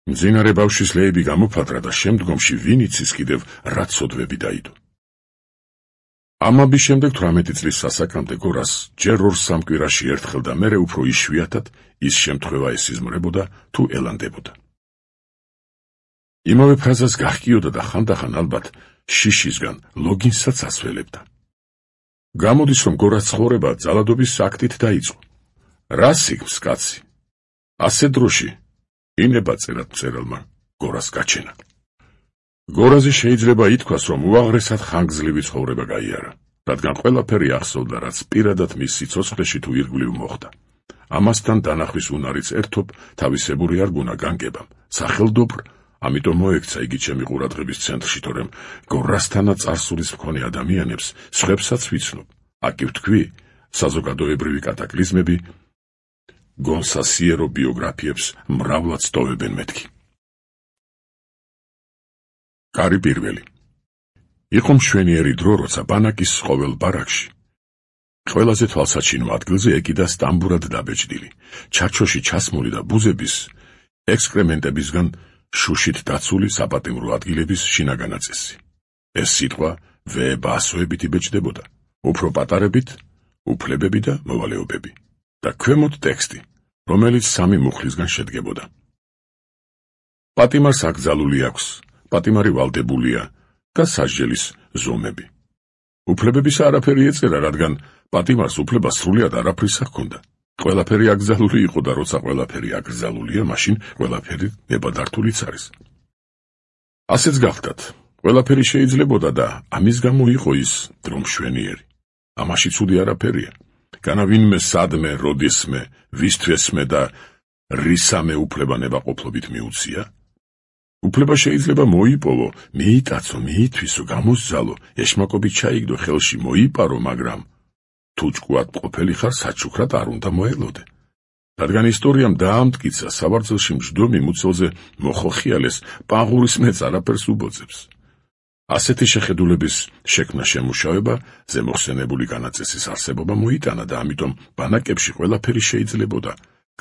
მძინარე ბავშვის ლეიბი გამოფადრა და შემდგომში ვინ იცის კიდევ რა ცოდვები დაიდო. ამების შემდეგ 18 წლის სასაკრამდე გორას ჯერ 2-3 კვირაში ერთხელ და მერე უფრო იშვიათად ის შემთხვევა ესიზმრებოდა თუ ელანდებოდა. იმავე ფრაზას გაჰკიოდა და ხანდახან ალბათ შიშისგან ლოგინსაც ასველებდა. გამოდის, რომ გორას ცხოვრება ძალადობის აქტით დაიწყო. რა სიგმს კაცი? ასე დროში ინება წერად მწერალმა გორას გაჩენა. გორაზე შეიძლება ითქვას, რომ უაღრესად ხანგრძლივი ცხოვრება გაიარა, რადგან ყველაფერი ახსოვდა, რაც პირადად მის სიცოცხლეში თუ ირგვლივ მოხდა. ამასთან დანახვის უნარიც ერთობ თავისებური არ გუნა განგებამ, სახელდობრ, ამიტომ მოექცა იგი ჩემი ყურადღების ცენტრში, თორემ გორასთანაც წარსულის მქონე ადამიანებს სხვებსაც ვიცნობ. აკი ვთქვი, საზოგადოებრივი კატაკლიზმები გონსასიერო ბიოგრაფიებს მრავლად სტოვებენ მეთქი. კარი პირველი. იყო მშვენიერი დრო, როცა ბანაკის ყოველ ბარაკში ყველაზე თვალსაჩინო ადგილზე ეკიდა სტამბურად დაბეჭდილი, ჩარჩოში ჩასმული და ბუზების ექსკრემენტებისგან შუშით დაცული საპატიმრო ადგილების შინაგანაწესი. ეს სიტყვა ვეებასოებით იბეჭდებოდა, უფრო პატარებით, უფლებები და მოვალეობები. და ქვემოთ ტექსტი, რომელიც 3 მუხლისგან შედგებოდა. პატიმარს აკრძალული აქვს, პატიმარი ვალდებულია და სასჯელის ზომები. უფლებებისა არაფერი ეწერა, რადგან პატიმარს უფლება სრულად არაფრის ჰქონდა. ყველაფერი აკრძალული იყო და როცა ყველაფერი აკრძალულია, მაშინ ყველაფერი ნებადართულიც არის. ასეც გახდათ, ყველაფერი შეიძლებოდა და ამის გამო იყო ის დრო მშვენიერი. ამაში ცუდი არაფერია. განა ვინმე სადმე, როდისმე, ვისთვესმე და რისამე უფლება ნებაყოფლობით მიუცია? უფლება შეიძლება მოიპოვო, მიიტაცო, მიითვისო, გამოსძალო, ეშმაკობით ჩაიგდო, ხელში მოიპარო, მაგრამ თუ ჭკუად ყოფილი ხარ, საჩუქრად არ უნდა მოელოდე. რადგან ისტორიამ დაამტკიცა, საბრძოლში მჯდომი მუცელზე მოხოხიალეს, პაღურის მეც არაფერს უბოძებს. ასეთი შეხედულების შექმნა შემუშავება ზემოხსენებული განაწესის არსებობა მოიტანა და ამიტომ ბანაკებში ყველაფერი შეიძლებოდა,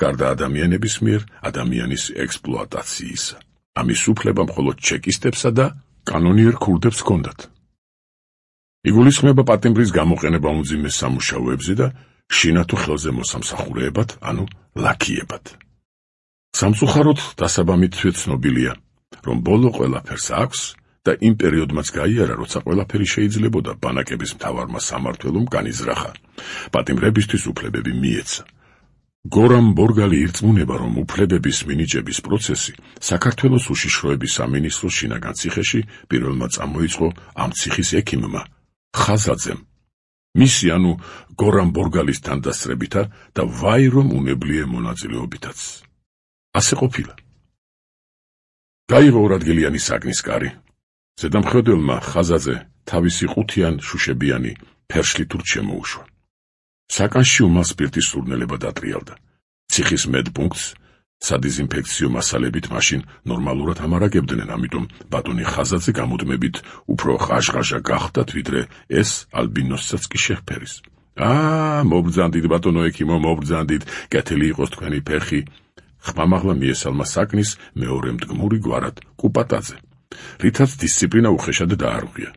გარდა ადამიანების მიერ ადამიანის ექსპლუატაციისა. ამის უფლება მხოლოდ ჩეკისტებსა და კანონიერ ქურდებს ჰქონდათ. იგულისხმება პატიმრის გამოყენება უმძიმე სამუშაოებზე და შინათუ ხელზე მოსამსახურეებად, ანუ ლაქიებად. სამწუხაროდ დასაბამითვე ცნობილია, რომ ბოლო ყველაფერს აქვს და იმ პერიოდმაც გაიარა, როცა ყველაფერი შეიძლებოდა ბანაკების მთავარმა სამმართველომ განიზრახა. პატიმრებისთვის უფლებები მიეცა. გორამ ბორგალი ირწმუნება, რომ უფლებების მინიჭების პროცესი საქართველოს უშიშროების სამინისტროს შინაგან ციხეში პირველმა წამოიწყო ამ ციხის ექიმმა ხაზაძემ. მისი ანუ გორამ ბორგალის თანდასწრებითა და ვაირომ უნებლიე მონაწილეობითაც. ასე ყოფილა. გაიღო ორადგილიანი საგნის კარი. ზედამხედველმა ხაზაძე თავისი ყუთიან შუშებიანი ფერშლით შემოუშვა. საკანში უმალ სპირტის სურნელება დატრიალდა. ციხის მედპუნქტს სადიზინფექციო მასალებით მაშინ ნორმალურად ამარაგებდნენ, ამიტომ ბატონი ხაზაძე გამუდმებით უფრო ხაშხაშა გახდათ, ვიდრე ეს ალბინოსსაც კი შეჰფერის. მობრძანდით ბატონო ექიმო, მობრძანდით, კეთილი იყოს თქვენი ფეხი. ხმამაღლა მიესალმა საკნის მეორე მდგმური გვარად კუპატაძე, რითაც დისციპლინა უხეშად დაარღვია.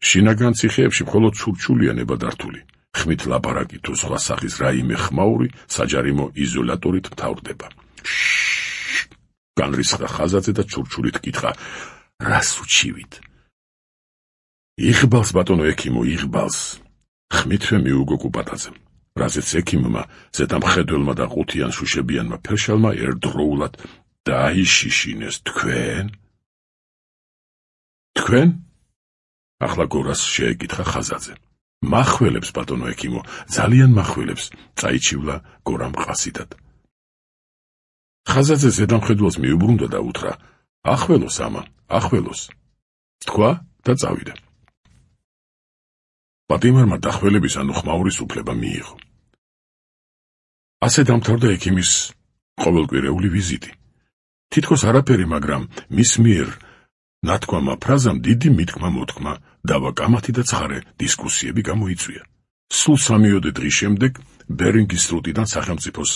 შინაგან ციხეებში მხოლოდ ჩურჩულიანება დართული, ხმით ლაპარაკი თუ სხვა სახის რაიმე ხმაური საჯარიმო იზოლატორით მთავრდება. განრისხა ხაზაძე და ჩურჩულით კითხა, რას უჩივით? იღბალს ბატონო ექიმო, იღბალს. ხმითვე მიუგო კუპატაძემ, რაზეც ექიმმა ზედამხედველმა და ყუთიან შუშებიანმა ფერშალმა ერთდროულად დაიშიშინეს. თქვენ? ახლა გორას შეეკითხა ხაზაძე. მახველებს ბატონო ექიმო, ძალიან მახველებს, წაიჩივლა გორამ ყასიდად. ხაზაძე ზედამხედველს მიუბრუნდა და უთხრა, ახველოს ამა, ახველოს. თქვა და წავიდა. პატიმარმა დახველების ანუ ხმაურის უფლება მიიღო. ასე დამთავრდა ექიმის ყოველკვირეული ვიზიტი. თითქოს არაფერი, მაგრამ მის მიერ ნათქვამა ფრაზამ დიდი მითქმა-მოთქმა, დავა კამათი და ცხარე დისკუსიები გამოიწვია. სულ 3-4 დღის შემდეგ ბერინგის სრუტიდან სახელმწიფოს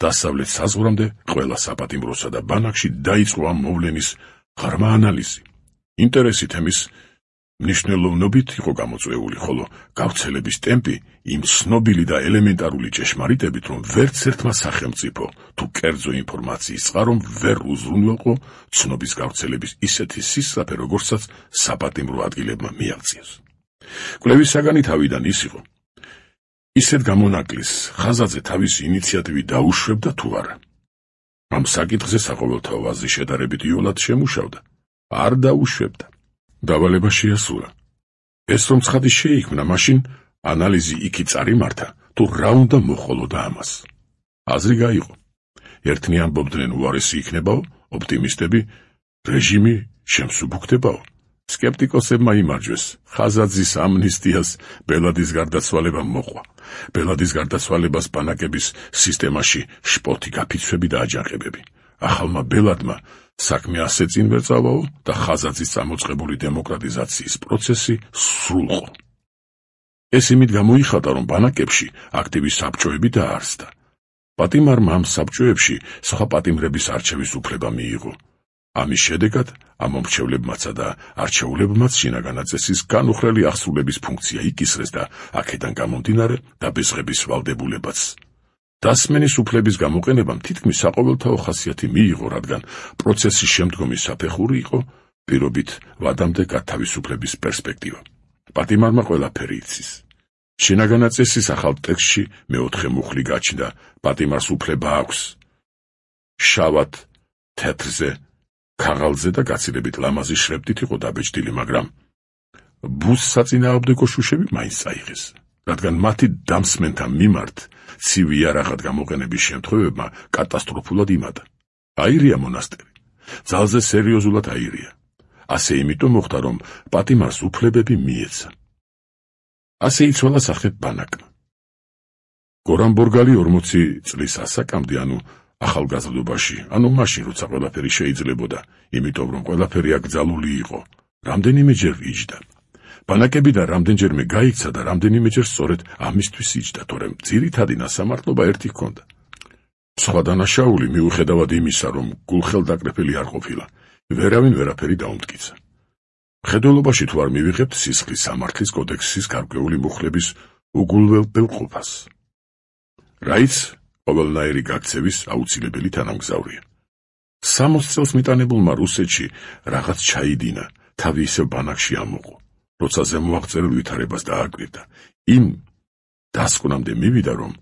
დასავლეთ საზღვრამდე ყველა საპატიმროსა და ბანაკში დაიწყო ამ მოვლენის ღრმა ანალიზი. ინტერესი თემის მნიშვნელოვნობით იყო გამოწვეული, ხოლო გავრცელების ტემპი იმ ცნობილი და ელემენტარული ჭეშმარიტებით, რომ ვერც ერთმა სახელმწიფო თუ კერძო ინფორმაციის წყარომ ვერ უზრუნველყო ცნობის გავრცელების ისეთი სისწრაფე, როგორცაც საპატიმრო ადგილებმა მიაღწიეს. კვლევის საგანი თავიდან ის იყო, ისეთ გამონაკლის ხაზაძე თავისი ინიციატივით დაუშვებდა თუ არა. ამ საკითხზე საყოველთაო აზრი შედარებით იოლად შემუშავდა, არ დაუშვებდა. დავალება შეასრულა. ეს რომ ცხადი შეიქმნა, მაშინ ანალიზი იქით წარიმართა, თუ რა უნდა მოხოლოდა ამას. აზრი გაიყო. ერთნი ამბობდნენ უარესი იქნებაო, ოპტიმისტები რეჟიმი შემსუბუქდებაო. სკეპტიკოსებმა იმარჯვეს, ხაზაძის ამნისტიას ბელადის გარდაცვალება მოყვა. ბელადის გარდაცვალებას ბანაკების სისტემაში შპოთი გაფიცვები და აჯანყებები. ახალმა ბელადმა საქმე ასე წინ ვერ წავაო და ხაზაძის წამოწყებული დემოკრატიზაციის პროცესი სრულყო. ეს იმით გამოიხატა, რომ ბანაკებში აქტივი საბჭოები დაარსდა. პატიმარმა ამ საბჭოებში სხვა პატიმრების არჩევის უფლება მიიღო. ამის შედეგად ამ მომრჩევლებმაცა და არჩეულებმაც შინაგან აწესის განუხრელი აღსრულების ფუნქცია იკისრეს და აქედან გამომდინარე დაბესღების ვალდებულებაც. დასმენის უფლების გამოყენებამ თითქმის საყოველთაო ხასიათი მიიღო, რადგან პროცესის შემდგომი საფეხური იყო პირობით ვადამდე გათავისუფლების პერსპექტივა. პატიმარმა ყველაფერი იცის. შინაგან აწესის ახალ ტექსტში მეოთხე მუხლი გაჩნდა, პატიმარს უფლება აქვს შავად თეთრზე, ქაღალდზე და გაცილებით ლამაზი შრიფტით იყო დაბეჭდილი, მაგრამ ბუს საწინააღმდეგო შუშები მაინც წაიღეს, რადგან მათი დამსმენთა მიმართ ცივი იარაღად გამოყენების შემთხვევებმა კატასტროფულად იმადა. აირია მონასტერი. ძალზე სერიოზულად აირია. ასე იმიტომ მოხდა, რომ პატიმარს უფლებები მიეცა. ასე იცვალა სახეთ ბანაკმა. გორამ ბორგალი 40 წლის ასაკამდე, ანუ ახალგაზრდობაში, ანუ მაშინ, როცა ყველაფერი შეიძლებოდა, იმიტომ რომ ყველაფერი აკრძალული იყო, რამდენიმეჯერ იჯდა. ბანაკები და რამდენჯერმე გაიქცა და რამდენიმეჯერ სწორედ ამისთვის იჯდა, თორემ ძირითადი ნასამართლობა ერთი ჰქონდა. სხვა დანაშაული მიუხედავად იმისა, რომ გულხელდაკრეფილი არ ყოფილა, ვერავინ ვერაფერი დაუმტკიცა. მხედველობაში თუ არ მივიღებთ სისხლის სამართლის კოდექსის გარკვეული მუხლების უგულველყოფას, რაიც ყოველნაირი გაქცევის აუცილებელი თანამგზავრია. 60 წელს მიტანებულმა რუსეთში რაღაც ჩაიდინა, თავი ისევ ბანაკში ამოყო, როცა ზემოაღწევილ ვითარებას დააკვირდა. იმ დასკვნამდე მივიდა, რომ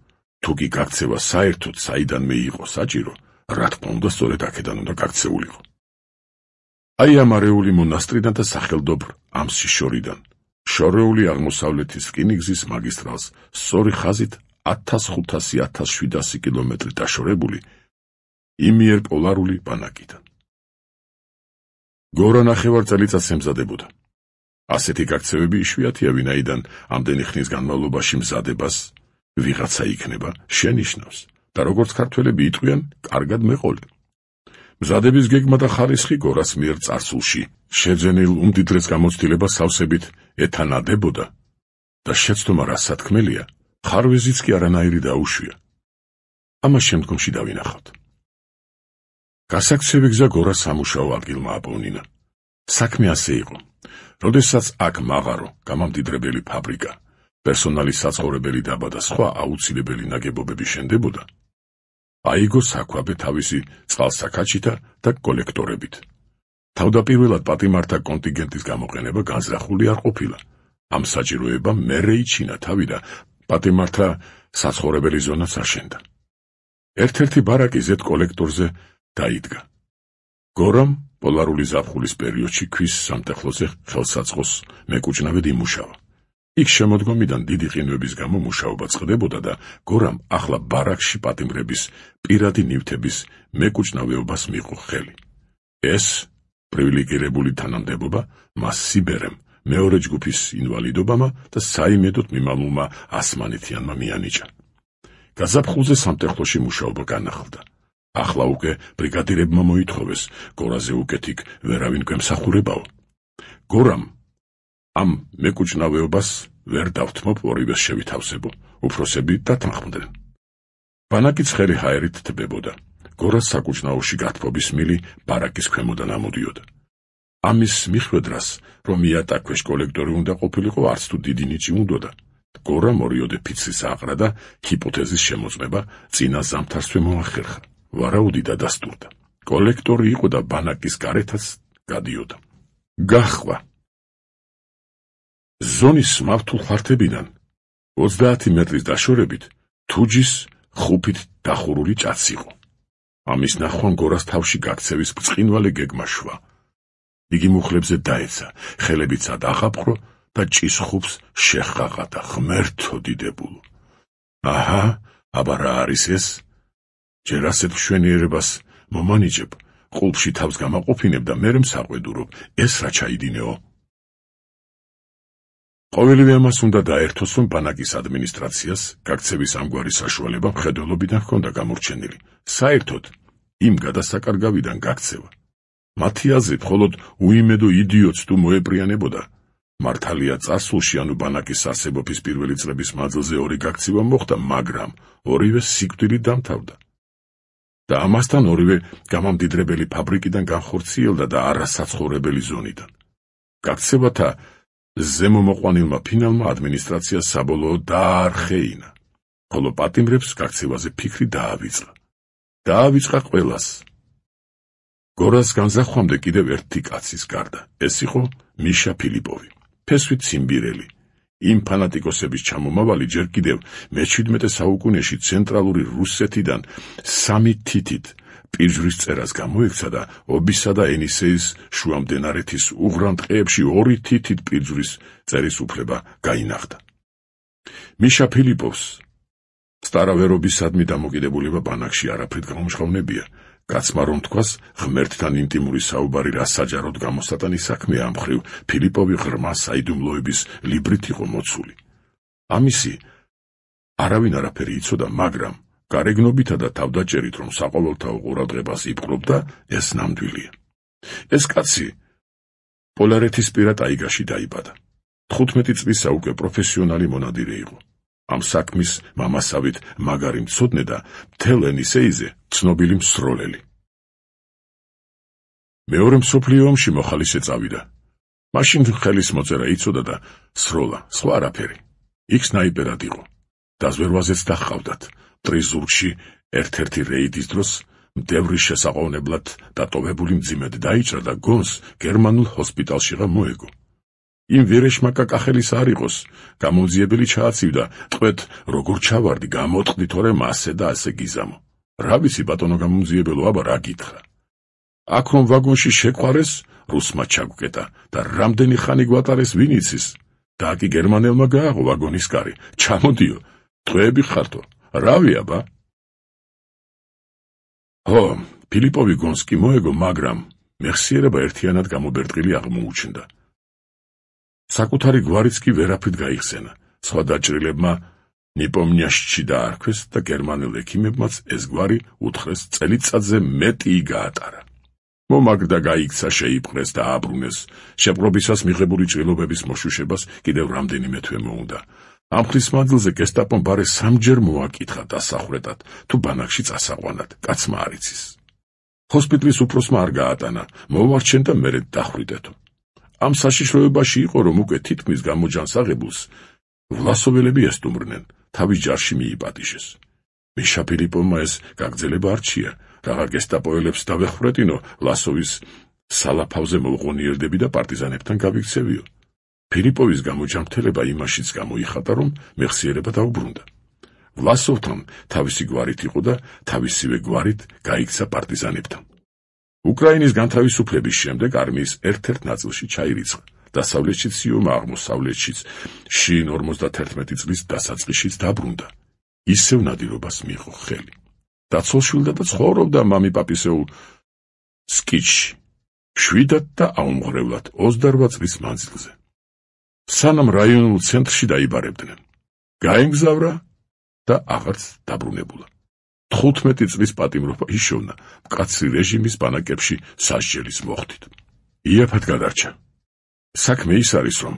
თუ კი გაქცევა საერთოდ საიდანმე იყო საჭირო, რა თქმა უნდა, სწორედ აქედან უნდა გაქცეულიყო. აი ამ არეული მონასტრიდან და სახელდობრ ამსში შორიდან, შორეული აღმოსავლეთის რკინიგზის მაგისტრალს, სწორი ხაზით 1500-1700 კილომეტრი დაშორებული, იმიერ პოლარული ბანაკიდან. გორა ნახევარ წელიწადს ემზადებოდა. ასეთი გაქცევები იშვიათია, ვინაიდან ამდენი ხნის განმავლობაში მზადებას ვიღაცა იქნება შენიშნავს და როგორც ქართველები იტყვიან, კარგად მეყოლი. მზადების გეგმა და ხარისხი გორას მიერ წარსულში შეძენილ უმდიდრეს გამოცდილებას სავსებით ეთანადებოდა და შეცდომა რა სათქმელია, ხარვეზიც კი არანაირი დაუშვია. ამას შემდგომში დავინახავთ. გასაქცევი გზა გორას სამუშაო ადგილმა აპოვნინა. საქმე ასე იყო. როდესაც აქ მაღარო, გამამდიდრებელი ფაბრიკა, პერსონალის საცხოვრებელი დაბა და სხვა აუცილებელი ნაგებობები შენდებოდა, აიგო საქვაბე თავისი წყალსაქაჩითა და კოლექტორებით. თავდაპირველად პატიმართა კონტინგენტის გამოყენება განზრახული არ ყოფილა. ამ საჭიროებამ მერე იჩინა თავი და პატიმართა საცხოვრებელი ზონაც აშენდა. ერთ-ერთი ბარაკი ზედ კოლექტორზე დაიდგა. გორამ პოლარული ზაფხულის პერიოდში ქვის სამტეხლოზე ხელსაწყოს მეკუჭნავედ იმუშავა. იქ შემოდგომიდან დიდი ყინვების გამო მუშაობა წყდებოდა და გორამ ახლა ბარაკში პატიმრების პირადი ნივთების მეკუჭნავეობას მიიღო ხელი. ეს პრივილეგირებული თანამდებობა მას სიბერემ, მეორე ჯგუფის ინვალიდობამა და საიმედოდ მიმალულმა ასმანეთიანმა მიანიჭა. გაზაფხულზე სამტეხლოში მუშაობა განახლდა. ახლა უკვე ბრიგადირებმა მოითხოვეს, გორაზე უკეთ იქ ვერავინ გვემსახურებაო. გორამ ამ მეკუჭნავეობას ვერ დავთმობ, ორივეს შევითავსებო, უფროსები დათანხმდნენ. ბანაკი ცხელი ჰაერით თბებოდა. გორას საკუჭნაოში გათბობის მილი ბარაკის ქვემოდან ამოდიოდა. ამის მიხვედრას, რომ იატაკქვეშ კოლექტორი უნდა ყოფილიყო, არც თუ დიდი ნიჭი უნდოდა. გორამ ორიოდე ფიცრის აყრა და ჰიპოთეზის შემოწმება წინა ზამთარსვე მოახერხა. ვარაუდიდა დასტურდა. კოლექტორი იყო და ბანაკის გარეთაც გადიოდა. გაჰყვა. ზონის მავთულ ხართებიდან 30 მეტრის დაშორებით თუჯის ხუფით დახურული ჭაც იყო. ამის ნახვამ გორას თავში გაქცევის ბრწყინვალე გეგმა შვა. იგი მუხლებზე დაეცა, ხელებიცად აღაპყრო და ჭის ხუფს შეხაღა და ღმერთო დიდებულო. აჰა, აბა რა არის ეს? ჯერ ასეთ მშვენიერებას მომანიჭებ, ყულფში თავს გამაყოფინებ და მერე მსაყვედურობ, ეს რა ჩაიდინეო? ყოველივე ამას უნდა დაერთოს, რომ ბანაკის ადმინისტრაციას გაქცევის ამგვარი საშუალება მხედველობიდან ჰქონდა გამორჩენილი. საერთოდ იმ გადასაკარგავიდან გაქცევა. მათი აზრით, მხოლოდ უიმედო იდიოტს თუ მოეპრიანებოდა. მართალია წარსულში, ანუ ბანაკის არსებობის პირველი წლების მანძილზე ორი გაქცევა მოხდა, მაგრამ ორივე სიკვდილით დამთავრდა. და ამასთან ორივე გამამდიდრებელი ფაბრიკიდან განხორციელდა და არასაცხოვრებელი ზონიდან. გაქცევათა ზემომოყვანილმა ფინალმა ადმინისტრაციას საბოლოოდ დაარხეინა, ხოლო პატიმრებს გაქცევაზე ფიქრი დაავიწყა. დაავიწყა ყველას. გორას განზახვამდე კიდევ ერთი კაცის გარდა, ეს იყო მიშა ფილიპოვი, ფესვით ციმბირელი. იმ ფანატიკოსების ჩამომავალი ჯერ კიდევ მე-17 საუკუნეში ცენტრალური რუსეთიდან 3 თითით პირჯვრის წერას გამოექცა და ობისა და ენისეის შუამდინარეთის უღრან ტყეებში 2 თითით პირჯვრის წერის უფლება გაინახდა. მიშა ფილიპოვს სტარავერობისადმი დამოკიდებულება ბანაკში არაფრით გამომჟღავნებია. კაცმა რომ თქვას, ღმერთთან ინტიმური საუბარი რა საჯაროდ გამოსატანის საქმეა, ამ მხრივ ფილიპოვი ღრმა საიდუმლოების ლიბრით იყო მოცული. ამისი არავინ არაფერი იცოდა, მაგრამ გარეგნობითა და თავდაჭერით, რომ საყოველთაო ყურადღებას იპყრობდა, ეს ნამდვილია. ეს კაცი პოლარეთისპირა ტაიგაში დაიბადა. 15 წლისა უკვე პროფესიონალი მონადირე იყო. ამ საქმის მამასავით მაგარი მცოდნე და მთელ ენისეიზე ცნობილი მსროლელი. მეორე მსოფლიო ომში მოხალისე წავიდა. მაშინ ხელის მოწერა იცოდა და სროლა, სხვა არაფერი. იქ სნაიპერად იყო. დაზვერვაზეც დაჰყავდათ. მტრის ზურგში ერთ-ერთი რეიდის დროს მდევრის შესაყოვნებლად დატოვებული მძიმედ დაიჭრა და გონს გერმანულ ჰოსპიტალშიღა მოეგო. იმ ვერეშმა კაკახელის არ იყოს, გამომძიებელი ჩააცივდა, ტყვეთ როგორ ჩავარდი, გამოტყდი თორემ ასე და ასე გიზამო. რა ვიცი ბატონო გამომძიებელო, აბა რა გითხრა. აქ რომ ვაგონში შეყვარეს, რუსმა ჩაგუკეტა და რამდენი ხანი გვატარეს ვინ იცის. და კი გერმანელმა გააღო ვაგონის კარი. ჩამოდიო, ტყვეები ხართო, რავი აბა. ო, ფილიპოვი გონს კი მოეგო, მაგრამ მეხსიერება ერთიანად გამობერტყილი აღმოუჩნდა. საკუთარი გვარიც კი ვერაფრით გაიხსენა. სხვა დაჭრილებმა ნიპომნიაშში დაარქვეს და გერმანელ ექიმებმაც ეს გვარი უთხრეს წელიწადზე მეტი გაატარა. მომაგრდა, გაიქცა, შეიპყრეს და აბრუნეს. შეპყრობისას მიღებული ჭრილობების მოშუშებას კიდევ რამდენიმე თვე მოუნდა. ამ ხნის მანძილზე გესტაპომ ბარე სამჯერ მოაკითხა დასახრეტად, თუ ბანაკში წასაყვანად, კაცმა არ იცის. ჰოსპიტალის უფროსმა არ გაატანა, მოვარჩენდა მერე დახვიდეთო. ამ საშიშროებაში იყო, რომ უკვე თითქმის გამოჯანს აღებულს ვლასოველები ესტუმრნენ, თავის ჯარში მიიპატიშეს. მიშა ფილიპოვმა ეს გაგრძელება არჩია, რაღა გესტაპოელებს დავეხვრეტინო, ლასოვის სალაფავზე მოვღონიერდები და პარტიზანებთან გავიქცევიო. ფილიპოვის გამოჯანმრთელება იმაშიც გამოიხატა, რომ მეხსიერება დაუბრუნდა. ვლასოვთან თავისი გვარით იყო და თავისივე გვარით გაიქცა პარტიზანებთან. უკრაინის განთავისუფლების შემდეგ არმიის ერთ-ერთ ნაწილში ჩაირიცხა. დასავლეთშიც იომა, აღმოსავლეთშიც შინ 51 წლის დასაწყისშიც დაბრუნდა. ისევ ნადირობას მიიღო ხელი. დაცოლშვილდა და ცხოვრობდა მამიპაპისეულ სკიჩში. შვიდად და აუმღრევლად 28 წლის მანძილზე. სანამ რაიონულ ცენტრში დაიბარებდნენ. გაემგზავრა და აღარც დაბრუნებულა. 15 წლის პატიმრობა იშოვნა მკაცრი რეჟიმის ბანაკებში სასჯელის მოხდით. იაფად გადარჩა. საქმე ის არის, რომ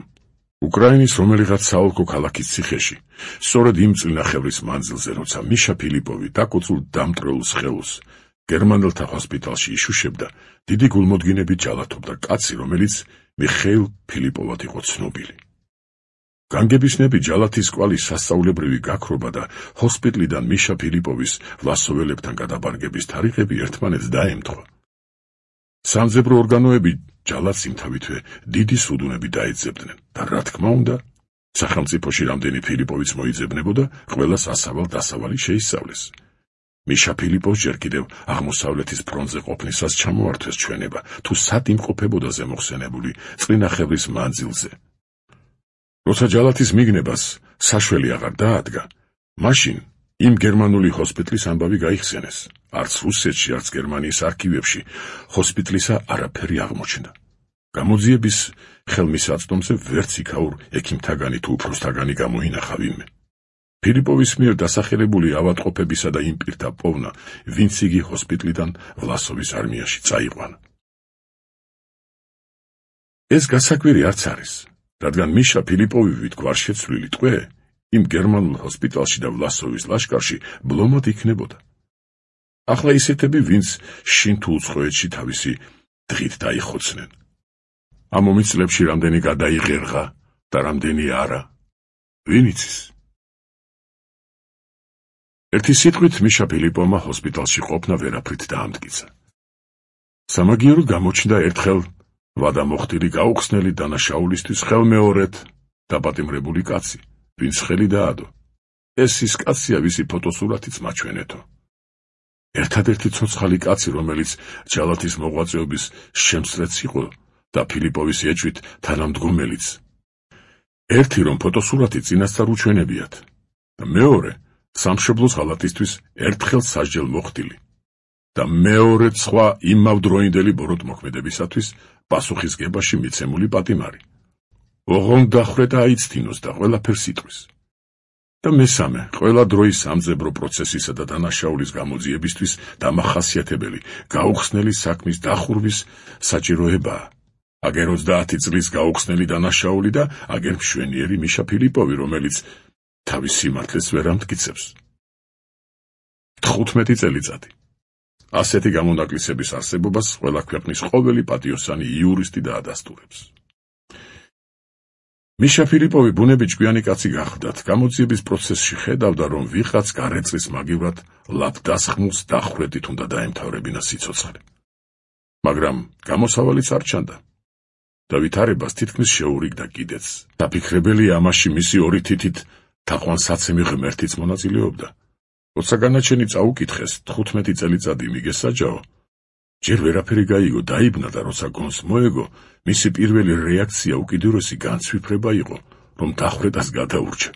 უკრაინის რომელიღაც საოლქო ქალაქის ციხეში, სწორედ იმ წლინახევრის მანძილზე, როცა მიშა ფილიპოვი დაკოწულ დამტრეულს ხელს გერმანელთა ჰოსპიტალში იშუშებდა, დიდი გულმოდგინებით ჯალათობდა კაცი, რომელიც მიხეილ ფილიპოვად იყო ცნობილი. განგებისნები ჯალათის კვალი სასწაულებრივი გაქრობა და ჰოსპიტლიდან მიშა ფილიპოვის ვლასოველებთან გადაბარგების თარიღები ერთმანეთს დაემთხვა. სამძებრო ორგანოები ჯალათს იმთავითვე დიდი სუდუნები დაეძებდნენ და რა თქმა უნდა, სახელმწიფოში რამდენი ფილიპოვიც მოიძებნებოდა, ყველას ასავალ-დასავალი შეისწავლეს. მიშა ფილიპოვს ჯერ კიდევ აღმოსავლეთის ფრონტზე ყოფნისას ჩამოართვეს ჩვენება, თუ სად იმყოფებოდა ზემოხსენებული წლინახევრის მანძილზე. როცა ჯალათის მიგნებას საშველი აღარ დაადგა, მაშინ იმ გერმანული ჰოსპიტლის ამბავი გაიხსენეს. არც რუსეთში, არც გერმანიის არქივებში ჰოსპიტლისა არაფერი აღმოჩნდა. გამოძიების ხელმისაწვდომზე ვერც იქაურ ექიმთაგანი თუ უფროსთაგანი გამოინახა ვინმე. ფილიპოვის მიერ დასახელებული ავადმყოფებისა და იმ პირთა პოვნა, ვინც იგი ჰოსპიტლიდან ვლასოვის არმიაში წაიყვანა. ეს გასაკვირი არც არის, რადგან მიშა ფილიპოვი ვით გვარშეცვლილი ტყვე იმ გერმანულ ჰოსპიტალში და ვლასოვის ლაშკარში ბლომად იქნებოდა. ახლა ისეთები, ვინც შინ თუ უცხოეთში თავისი დღით დაიხოცნენ. ამ ომის წლებში რამდენი გადაიღერღა და რამდენი არა, ვინ იცის? ერთი სიტყვით მიშა ფილიპოვმა ჰოსპიტალში ყოფნა ვერაფრით დაამტკიცა. სამაგიეროდ გამოჩნდა ერთხელ ვადამოხტილი გაუხსნელი დანაშაულისთვის ხელმეორედ დაპატიმრებული კაცი, ვინც ხელი დაადო. ეს ის კაცია, ვისი ფოტოსურათიც მაჩვენეთო. ერთადერთი ცოცხალი კაცი, რომელიც ჯალათის მოღვაწეობის შემსწრეც იყო და ფილიპოვის ეჭვით თანამდგომელიც. ერთი, რომ ფოტოსურათი წინასწარ უჩვენებიათ და მეორე, სამშობლოს ღალატისთვის ერთხელ სასჯელ მოხდილი და მეორე სხვა იმავდროინდელი ბოროტმოქმედებისათვის პასუხისგებაში მიცემული პატიმარი. ოღონდ დახრეტა აიცთინოს და ყველაფერს იტყვის. და მესამე, ყველა დროის სამძებრო პროცესისა და დანაშაულის გამოძიებისთვის დამახასიათებელი გაუხსნელი საქმის დახურვის საჭიროებაა. აგერ 30 წლის გაუხსნელი დანაშაული და აგერ მშვენიერი მიშა ფილიპოვი, რომელიც თავის სიმართლეს ვერ ამტკიცებს. 15 წელიწადი. ასეთი გამონაკლისების არსებობას ყველა ქვეყნის ყოველი პატიოსანი იურისტი დაადასტურებს. მიშა ფილიპოვი ბუნებით ჭკვიანი კაცი გახლდათ, გამოძიების პროცესში ხედავდა, რომ ვიღაც გარეწრის მაგივრად ლაპდასხმულს დახვედით უნდა დაემთავრებინა სიცოცხლე. მაგრამ გამოსავალიც არ ჩანდა და ვითარებას თითქმის შეურიგდა კიდეც. დაფიქრებელია ამაში მისი ორი თითით თაყვანსაცემი ღმერთიც მონაწილეობდა. როცა განაჩენი წაუკითხეს 15 წელიწადი მიგესაჯაო, ჯერ ვერაფერი გაიგო, დაიბნა და როცა გონს მოეგო, მისი პირველი რეაქცია უკიდურესი განცვიფრება იყო, რომ დახვრეტას გადაურჩა.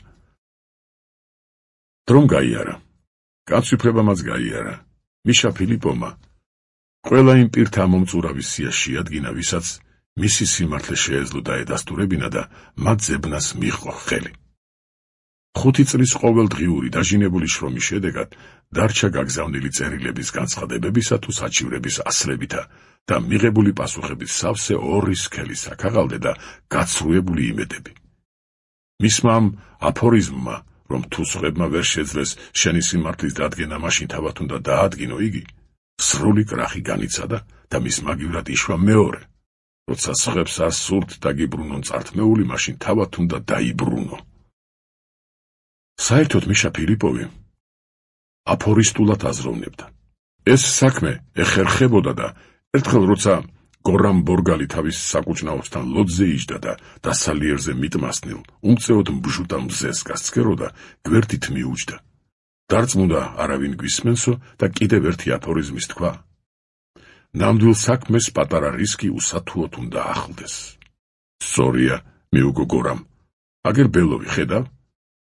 დრომ გაიარა. განცვიფრებამაც გაიარა. მიშა ფილიპოვმა ყველა იმ პირთა მომწურავის სია შეადგინა, ვისაც მისი სიმართლე შეეძლო დაედასტურებინა და მათ ძებნას მიჰყო ხელი. 5 წლის ყოველდღიური დაჟინებული შრომის შედეგად დარჩა გაგზავნილი წერილების განცხადებებისა თუ საჩივრების ასლებითა და მიღებული პასუხების სავსე 2 სქელი საქაღალდე და გაცრუებული იმედები. მისმა ამ აფორიზმმა, რომ თუ სხვებმა ვერ შეძლეს შენი სიმართლის დადგენა, მაშინ თავად უნდა დაადგინო იგი, სრული კრახი განიცადა და მის მაგივრად იშვა მეორე. როცა სხვებს არ სურთ დაგიბრუნონ წართმეული, მაშინ თავად უნდა დაიბრუნო. საერთოდ მიშა ფილიპოვი აფორისტულად აზროვნებდა. ეს საქმე ეხერხებოდა და ერთხელ როცა გორამ ბორგალი თავის საკუჭნაოსთან ლოდზე იჯდა და დასალიერზე მიტმასნილ უმწეოდ mbჟუტა მზეს გასცქეროდა, გვერდით მიუჯდა. დარწმუნდა არავინ გვისმენსო და კიდევ ერთი აფორიზმის თქვა. ნამდვილ საქმეს პატარა რისკი უსათუოდ უნდა ახლდეს. სწორია, მიუგო გორამ. აგერ ბელოვი ხედავ?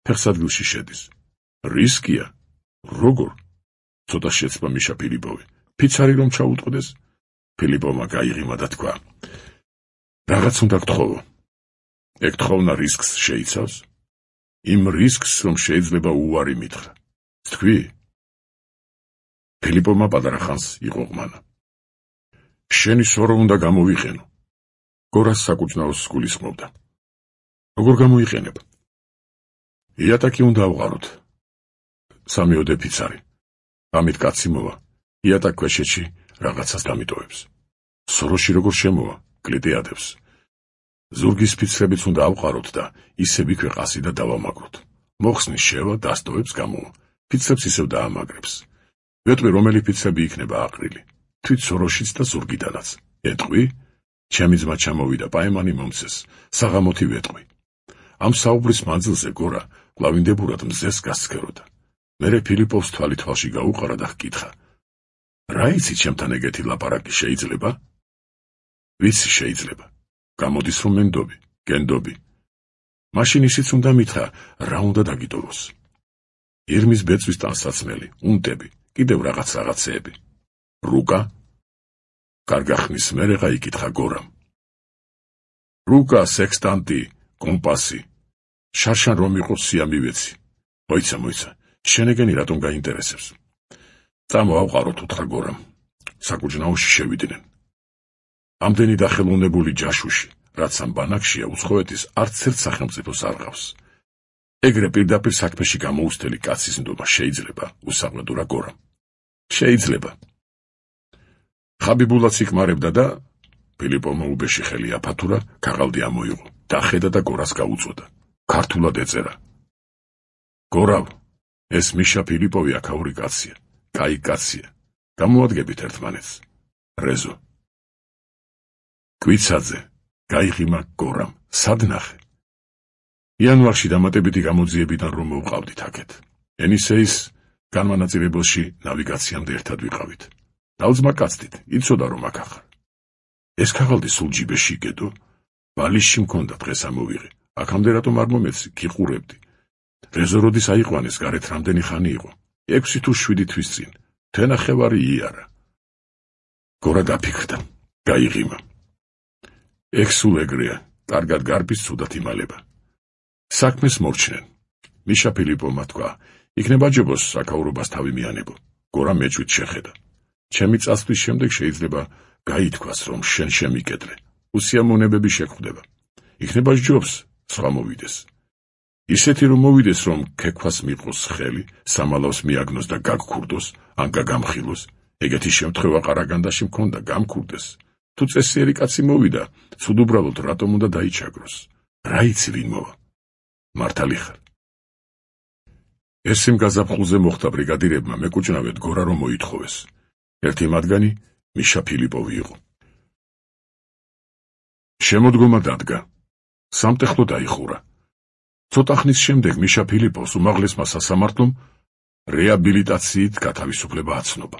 ფეხსადგილში შედის. რისკია? როგორ? ცოტა შეცდა მიშა ფილიპოვი. ფიცარი რომ ჩაუტყდეს? ფილიპოვმა გაიღიმა და თქვა. რაღაც უნდა გთხოვო. ეგ თხოვნა რისკს შეიცავს? იმ რისკს, რომ შეიძლება უარი მითხრა. თქვი? ფილიპოვმა პატარა ხანს იყო ყმანა. შენი სორო უნდა გამოვიყენო. გორას საკუჭნაოს გულისხმობდა. როგორ გამოიყენებ? იატაკი უნდა ავყაროთ. 3 ოდე ფიცარი. ამით კაცი მოვა. იატაკ ქვეშეთში რაღაცას დამიტოვებს. სოროში როგორ შემოვა, კლიტეადებს. ზურგის ფიცრებიც უნდა ავყაროთ და ისევ იქვე ყასი და დავამაგროთ. მოხსნის შევა, დასტოვებს გამოვა. ფიცრებს ისევ დაამაგრებს. ვეტყვი რომელი ფიცრები იქნება აყრილი. თვით სოროშიც და ზურგიდანაც. ეტყვი? ჩემი ძმა ჩამოვიდა, პაემანი მომცეს. საღამოთი ვეტყვი. ამ საუბრის მანძილზე გორა კლავინდებურად მზეს გასცქეროდა. მერე ფილიპოვს თვალი თვალში გაუყარა და ჰკითხა. რა იცი ჩემთან ეგეთი ლაპარაკი შეიძლება? ვიცი შეიძლება. გამოდის რომ მენდობი, გენდობი. მაშინ ისიც უნდა მითხრა, რა უნდა დაგიტოვოს. ირმის ბეწვის ტანსაცმელი, უნტები, კიდევ რაღაცეები. რუკა? კარგა ხნის მერე გაიკითხა გორამ. რუკა, სექსტანტი, კომპასი. შარშან რომ იყოს სია მივეცი. მოიცა, შენეგენი რატომ გაინტერესებს? წამოავყაროთ, უთხრა გორამ. საკუჭნაოში შევიდნენ. ამდენი დახელოვნებული ჯაშუში, რაც ამ ბანაკშია, უცხოეთის არც ერთ სახელმწიფოს არ ყავს. ეგრე პირდაპირ საქმეში გამოუსთელი კაცის ნდობა შეიძლება, უსაყვედურა გორამ. შეიძლება. ხაბიბულაც იკმარებდა და ფილიპოვმა უბეში ხელი აფათურა, ქაღალდი ამოიღო, დახედა და გორას გაუწოდა. ქართულად ეწერა. გორავ, ეს მიშა ფილიპოვი აქაური კაცია, კაი კაცია. გამოადგებით ერთმანეთს. რეზო. კვიცაძე, გაიღიმა გორამ, სად ნახე? იანვარში დამატებითი გამოძიებიდან რომ მოვყავდით აქეთ. ენისეის განმანაწილებელში ნავიგაციამდე ერთად ვიყავით. დავძმა კაცდით, იცოდა რომ აქ ახარ. ეს ქაღალდი სულ ჯიბეში იგედო? ბალიშში მქონდა, დღეს ამოვიღე. აქამდე რატომ არ მომეცი, გიყურებდი. რეზო როდის აიყვანეს, გარეთ რამდენი ხანი იყო? 6 თუ 7 თვის წინ. თენახევარი იარა. გორა დაფიქრდა, გაიღიმა. ეგ სულ ეგრეა, კარგად გარბის, ცუდად იმალება. საქმეს მორჩნენ. მიშა ფილიპოვმა თქვა, იქნება ჯობოს საკაურობას თავი მიანებო. გორა მეჭვით შეხედა. ჩემი წასვლის შემდეგ შეიძლება გაითქვას, რომ შენ შემიკედლე. უსიამოვნებები შეგხვდება. იქნება ჯობს, სხვა მოვიდეს. ისეთი რომ მოვიდეს, რომ ქექვას მიყოს ხელი, სამალავს მიაგნოს და გაგქურდოს, ან გაგამხილოს. ეგეთი შემთხვევა ყარაგანდაში მქონდა, გამქურდეს. თუ წესიერი კაცი მოვიდა, ცუდ უბრალოდ რატომ უნდა დაიჩაგროს. რა იცი ვინ მოვა? მართალი ხარ. ეს იმ გაზაფხულზე მოხდა ბრიგადირებმა მეკუჭნავეთ გორა რომ მოითხოვეს. ერთი მათგანი მიშა ფილიპოვი იყო. შემოდგომა დადგა. სამტეხლო დაიხურა. ცოტა ხნის შემდეგ მიშა ფილიპოვს უმაღლესმა სასამართლომ რეაბილიტაციით გათავისუფლება აცნობა.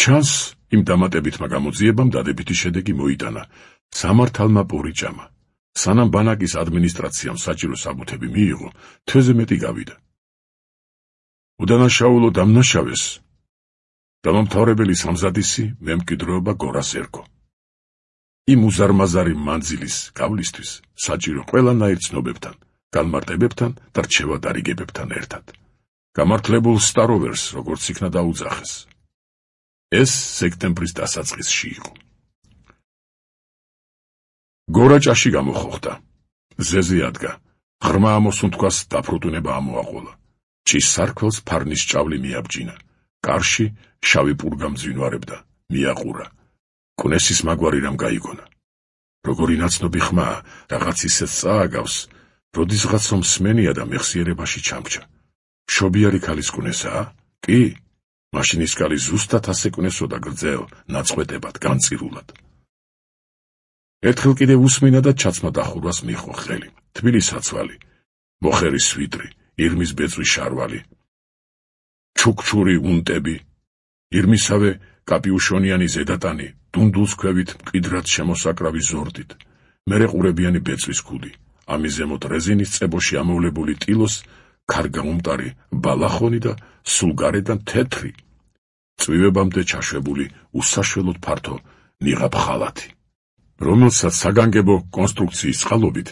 ჩანს იმ დამატებითმა გამოძიებამ დადებითი შედეგი მოიტანა სამართალმა პურიჭამა. სანამ ბანაკის ადმინისტრაციამ საჭირო საბუთები მიიღო, თვეზე მეტი გავიდა. უდანაშაულო დამნაშავეს დამამთავრებელი სამზადისი მემკვიდრეობა გორას ერქო. იმ უზარმაზარი მანძილის გავლისთვის საჭირო ყველანაირ ცნობებთან, განმარტებებთან და რჩევადარიგებებთან ერთად. გამართლებულ სტაროვერს როგორც იქნა დაუძახეს. ეს სექტემბრის დასაწყისში იყო. გორა ჭაში გამოხოხდა. ზეზე ადგა. ღრმა ამოსუნთქვას დაფრუტუნება ამოაყოლა. ჭის სარქველს ფარნის ჭავლი მიაბჯინა. კარში შავი პურგა მძვინვარებდა. მიაყურა. კუნესის მაგვარი რამ გაიგონა. როგორი ნაცნობი ხმაა, რაღაც ისეთ წააგავს, როდისღაც რომ სმენია და მეხსიერებაში ჩამჭა. მშობიარი ქალის კუნესაა? კი, მაშინ ის ქალი ზუსტად ასე კუნესოდა გრძელ, ნაწყვეტებად, განწირულად. ერთხელ კიდევ უსმინა და ჩაცმა დახურვას მიჰყო ხელი. თბილი საცვალი, მოხერის სვიტრი, ირმის ბეწვი შარვალი, ჩუქჩური უნტები, ირმისავე კაპიუშონიანი ზედატანი, დუნდულს ქვევით მკვიდრად შემოსაკრავი ზორდით, მერე ყურებიანი ბეწვის ქუდი, ამის ზემოთ რეზინის წებოში ამოვლებული ტილოს, ქარგაუმტარი ბალახონი და სულ გარედან თეთრი, წვივებამდე ჩაშვებული უსაშველოდ ფართო ნიღაბ ხალათი, რომელსაც საგანგებო კონსტრუქციის წყალობით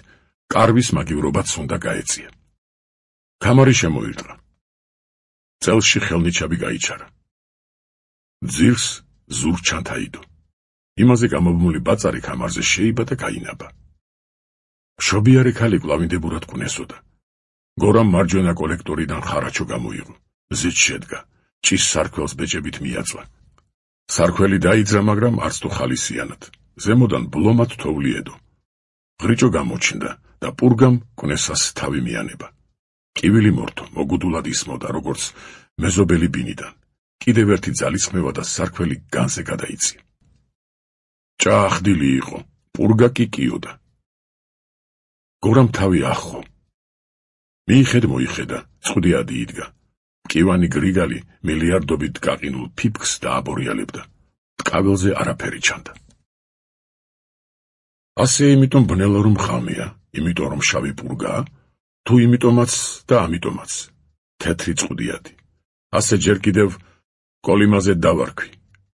კარვის მაგივრობაც უნდა გაეწია. ქამარი შემოირტყა. წელში ხელნიჩაბი გაიჩარა. ძირს ზურგ-ჩანთა იდო. იმაზე გამობმული ბაწარი ქამარზე შეიბა და გაინაბა. მშობიარი ქალი კვლავინდებურად კუნესოდა. გორამ მარჯვენა კოლექტორიდან ხარაჩო გამოიღო. ზეც შედგა. ჭის სარქველს ბეჭებით მიაწვა. სარქველი დაიძრა, მაგრამ არც თუ ხალისიანად. ზემოდან ბლომად თოვლი ედო. ღრიჭო გამოჩნდა და პურგამ კუნესას თავი მიანება. კივილი მორთო, მოგუდულად ისმოდა, როგორც მეზობელი ბინიდან. კიდევ ერთი ძალისხმევა და სარქველი განზე გადაიწია. ჭაახდილი იყო, პურგა კი კიოდა. გორამ თავი ახო. მიიხედა, წვდიადი იდგა. მკივანი გრიგალი მილიარდობით გაყინულ ფიფქს დააბორიალებდა. ტკაველზე არაფერი ჩანდა. ასე იმიტომ ბნელა რომ ხამია, იმიტომ რომ შავი პურგაა, თუ იმიტომაც და ამიტომაც, თეთრი წვდიადი. ასე ჯერ კიდევ კოლიმაზე დავარქვი,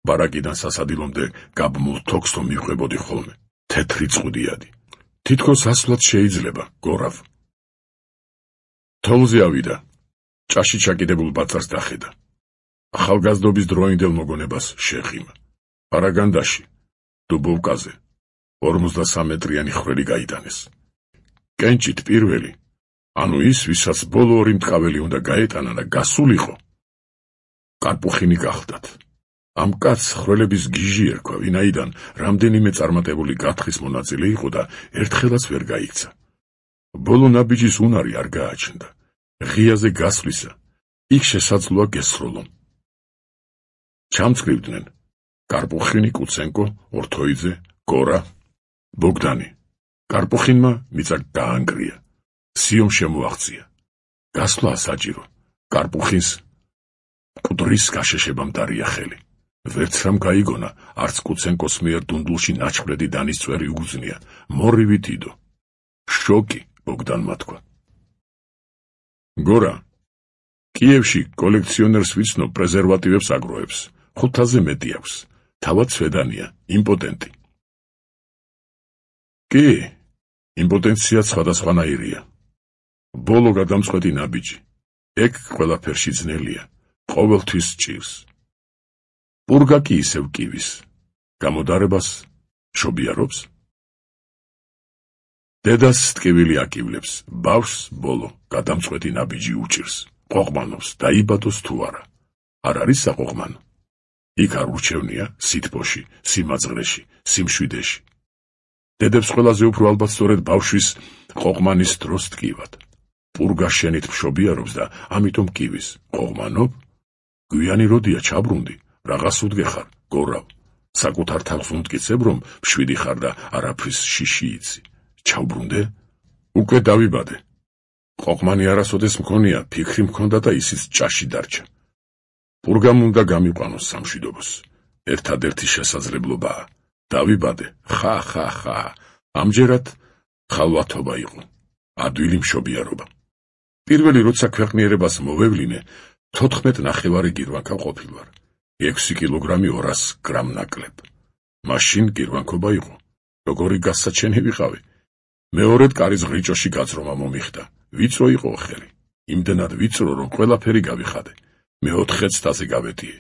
ბარაკიდან სასადილომდე გაბმულ თოქს რომ მივყვებოდი ხოლმე, თეთრი წვდიადი. თითქოს ასვლად შეიძლება, გორავ. თოვლზე ავიდა, ჭაში ჩაკიდებულ ბაწარს დახედა. ახალგაზრდობის დროინდელ მოგონებას შეეხიმა. პარაგანდაში, დუბოვკაზე, 53 მეტრიანი ხველი გაიტანეს. კენჭით პირველი, ანუ ის, ვისაც ბოლო ორი მტყაველი უნდა გაეტანა და გასულიყო, კარპუხინი გახდათ. ამ კაცს ხვრელების გიჟი ერქვა, ვინაიდან რამდენიმე წარმატებული გათხრის მონაწილე იყო და ერთხელაც ვერ გაიქცა. ბოლო ნაბიჯის უნარი არ გააჩნდა. ღიაზე გასვლისა, იქ შესაძლოა გესროლონ. ჩამწკრივდნენ კარპუხინი, კუცენკო, ორთოიძე, გორა, ბოგდანი. კარპუხინმა მიწა გაანგრია. სიომ შემოაღწია. გასვლა საჭირო. კარპუხინს მკვდრის გაშეშებამ დარია ხელი. ვერც რამ გაიგონა, არც კუცენკოს მიერ დუნდულში ნაჩხრედი დანისწვერი უგზნია. მორივით იდო. შოკი, ბოგდანმა თქვა. გორა, კიევში კოლექციონერს ვიცნობ, პრეზერვატივებს აგროვებს. 500-ზე მეტი აქვს. თავად სვედანია, იმპოტენტი. კი, იმპოტენცია სხვადასხვანაირია. ბოლო გადამწყვეტი ნაბიჯი. ეგ ყველაფერში ძნელია. ყოველთვის ჭირს. პურგა კი ისევ კივის. გამოდარებას შობიარობს. დედას ტკივილი აკივლებს, ბავშვს ბოლო გადამწყვეტი ნაბიჯი უჭირს. ყოყმანობს, დაიბადოს თუ არა. არ არის საყოყმანო. იქ არ ურჩევნია სითბოში, სიმაძღრეში, სიმშვიდეში. დედებს ყველაზე უფრო ალბათ სწორედ ბავშვის ყოყმანის დროს ტკივად. პურგა შენით მშობიარობს და ამიტომ კივის. ყოყმანობ? გვიანი როდია ჩაბრუნდი, რაღაც უდგეხარ, გორავ. საკუთარ თავს უმტკიცებ, რომ მშვიდი ხარ და არაფრის შიში იცი. ჩავბრუნდე? უკვე დავიბადე. ყოყმანი არასოდეს მქონია, ფიქრი მქონდა და ისიც ჭაში დარჩა. პურგამ უნდა გამიყვანოს სამშვიდობოს. ერთადერთი შესაძლებლობაა. დავიბადე, ხა. ამჯერად ხალვათობა იყო. ადვილი მშობიარობა. პირველი როცა ქვეყნიერებას მოვევლინე, 14.5 გირვანქა ყოფილვარ. 6 კილოგრამი 200 გრამ ნაკლებ. მაშინ გირვანქობა იყო. როგორი გასაჩენი ვიყავი. მეორედ კარის ღრიჭოში გაწრომა მომიხდა. ვიწრო იყო ხელი. იმდენად ვიწრო, რომ ყველაფერი გავიხადე. მე-4 ცდაზე გავეტიე.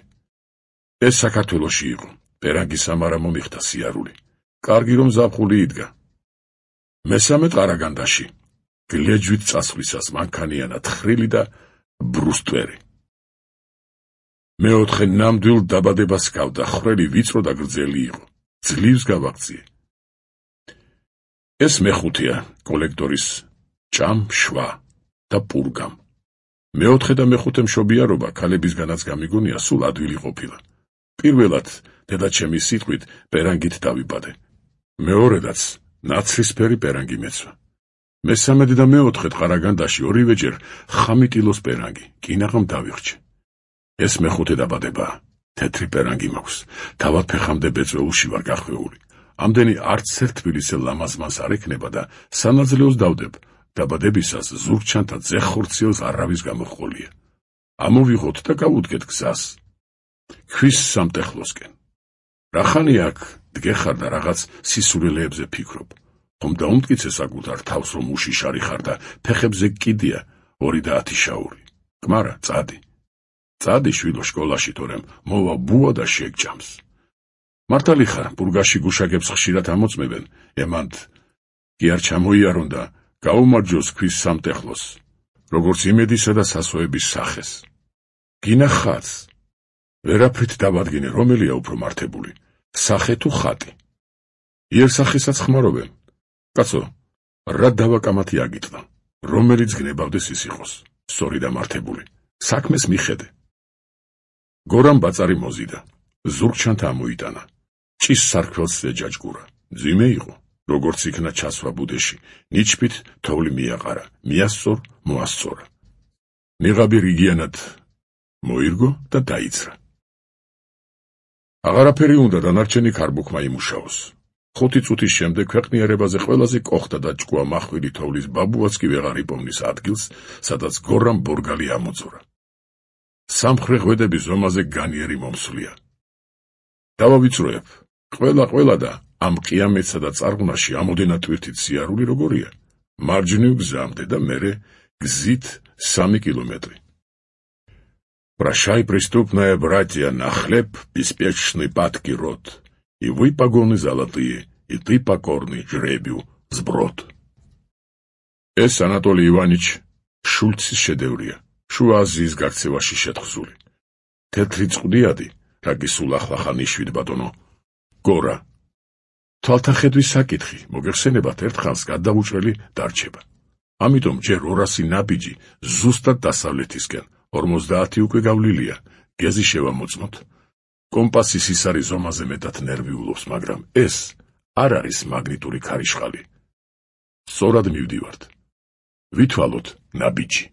ეს საქართველოში იყო. პერანგის ამარა მომიხდა სიარული. კარგი რომ ზაფხული იდგა. მესამე ყარაგანდაში. გლეჯვით წასვლისას მანქანიანა თხრილი და ბრუსტვერი. მე-4 ნამდვილ დაბადებას გავდა, ხრელი ვიწრო და გრძელი იყო. ძლივს გავაღწიე. ეს მე-5-ია კოლექტორის ჭამ, შვა და პურგამ. მე-4 და მე-5 მშობიარობა ქალებისგანაც გამიგონია სულ ადვილი ყოფილა. პირველად დედაჩემის სიტყვით პერანგით დავიბადე. მეორედაც ნაცრისფერი პერანგი მეცვა. მესამედი და მე-4 ყარაგანდაში ორივეჯერ 5 კილოს პერანგი, კინაღამ დავიხრჩე. ეს მე-5 დაბადებაა. თეთრი პერანგი მაქვს. თავად ფეხამდე ბეწვეულში ვარ გახვეული. ამდენი არც ერთ თბილისელ ლამაზმანს არ ექნება და სანაძლეოს დავდებ. დაბადებისას ზურგჩანთა ძეხორციელს არავის გამოჰყოლია. ამოვიღოთ და გავუდგეთ გზას. ქვის სამტეხლოსკენ. რახანი აქ დგეხარ და რაღაც სისულელეებზე ფიქრობ. ხომ დაუმტკიცე საკუთარ თავს, რომ უშიშარი ხარ და ფეხებზე კიდია 2 და 10 შაური. კმარა, წადი. წადი შვილო სკოლაში, თორემ მოვა ბუა და შეგჯამს. მართალი ხარ, პურგაში გუშაგებს ხშირად ამოწმებენ, ემანდ კი არ ჩამოიარონ და გაუმარჯოს ქვის სამტეხლოს, როგორც იმედისა და სასოების სახეს. გინახაც, ვერაფრით დავადგინე, რომელია უფრო მართებული, სახე თუ ხატი. იერსახესაც ხმარობენ. კაცო, რა დავაკამათი აგიტყდა, რომელიც გნებავდეს ის იყოს, სწორი და მართებული. საქმეს მიხედე. გორამ ბაწარი მოზიდა, ზურგჩანთა ამოიტანა. ჭის სარქველს ეჯაჯგურა. ძიმე იყო, როგორც იქნა ჩასვა ბუდეში, ნიჩბით თოვლი მიაყარა, მიასწორ, მოასწორა. ნიღაბი რიგიანად მოირგო და დაიცრა. აღარაფერი უნდა დანარჩენი ქარბუქმა იმუშაოს. 5 წუთის შემდეგ ქვეყნიერებაზე ყველაზე კოხდა და ჭკუა მახვილი თოვლის ბაბუაც კი ვეღარ იპოვნის ადგილს, სადაც გორამ ბორგალი ამოძურა. სამხრე ღვედები ზომაზე განიერი მომსვლია. დავავიწროებ, ყველა და ამ ყიამეთსა და წარღვნაში ამოდენა ტვირთით სიარული როგორია. მარჯვნივ გზამდე და მერე გზით 3 კილომეტრი. Прощай, преступная братья, на хлеб беспечный падки род. И вы погоны золотые, и ты покорный жребию сброд. ეს ანატოლი ივანიჩ შულცის შედევრია, შუა აზიის გაქცევაში შეთხზული. თეთრი წყდიადი, რა გისულ ახლახანიშვით ბატონო, გორა. თვალთახედვის საკითხი, მოგეხსენებათ ერთხანს გადაუჭრელი დარჩება. ამიტომ ჯერ 200 ნაბიჯი ზუსტად დასავლეთისკენ, 50 უკვე გავლილია, გეზი შევამოწმოთ. კომპასის ის არის ზომაზე მეტად ნერვიულობს, მაგრამ ეს არ არის მაგნიტური ქარიშხალი. სწორად მივდივართ. ვითვალოთ ნაბიჯი.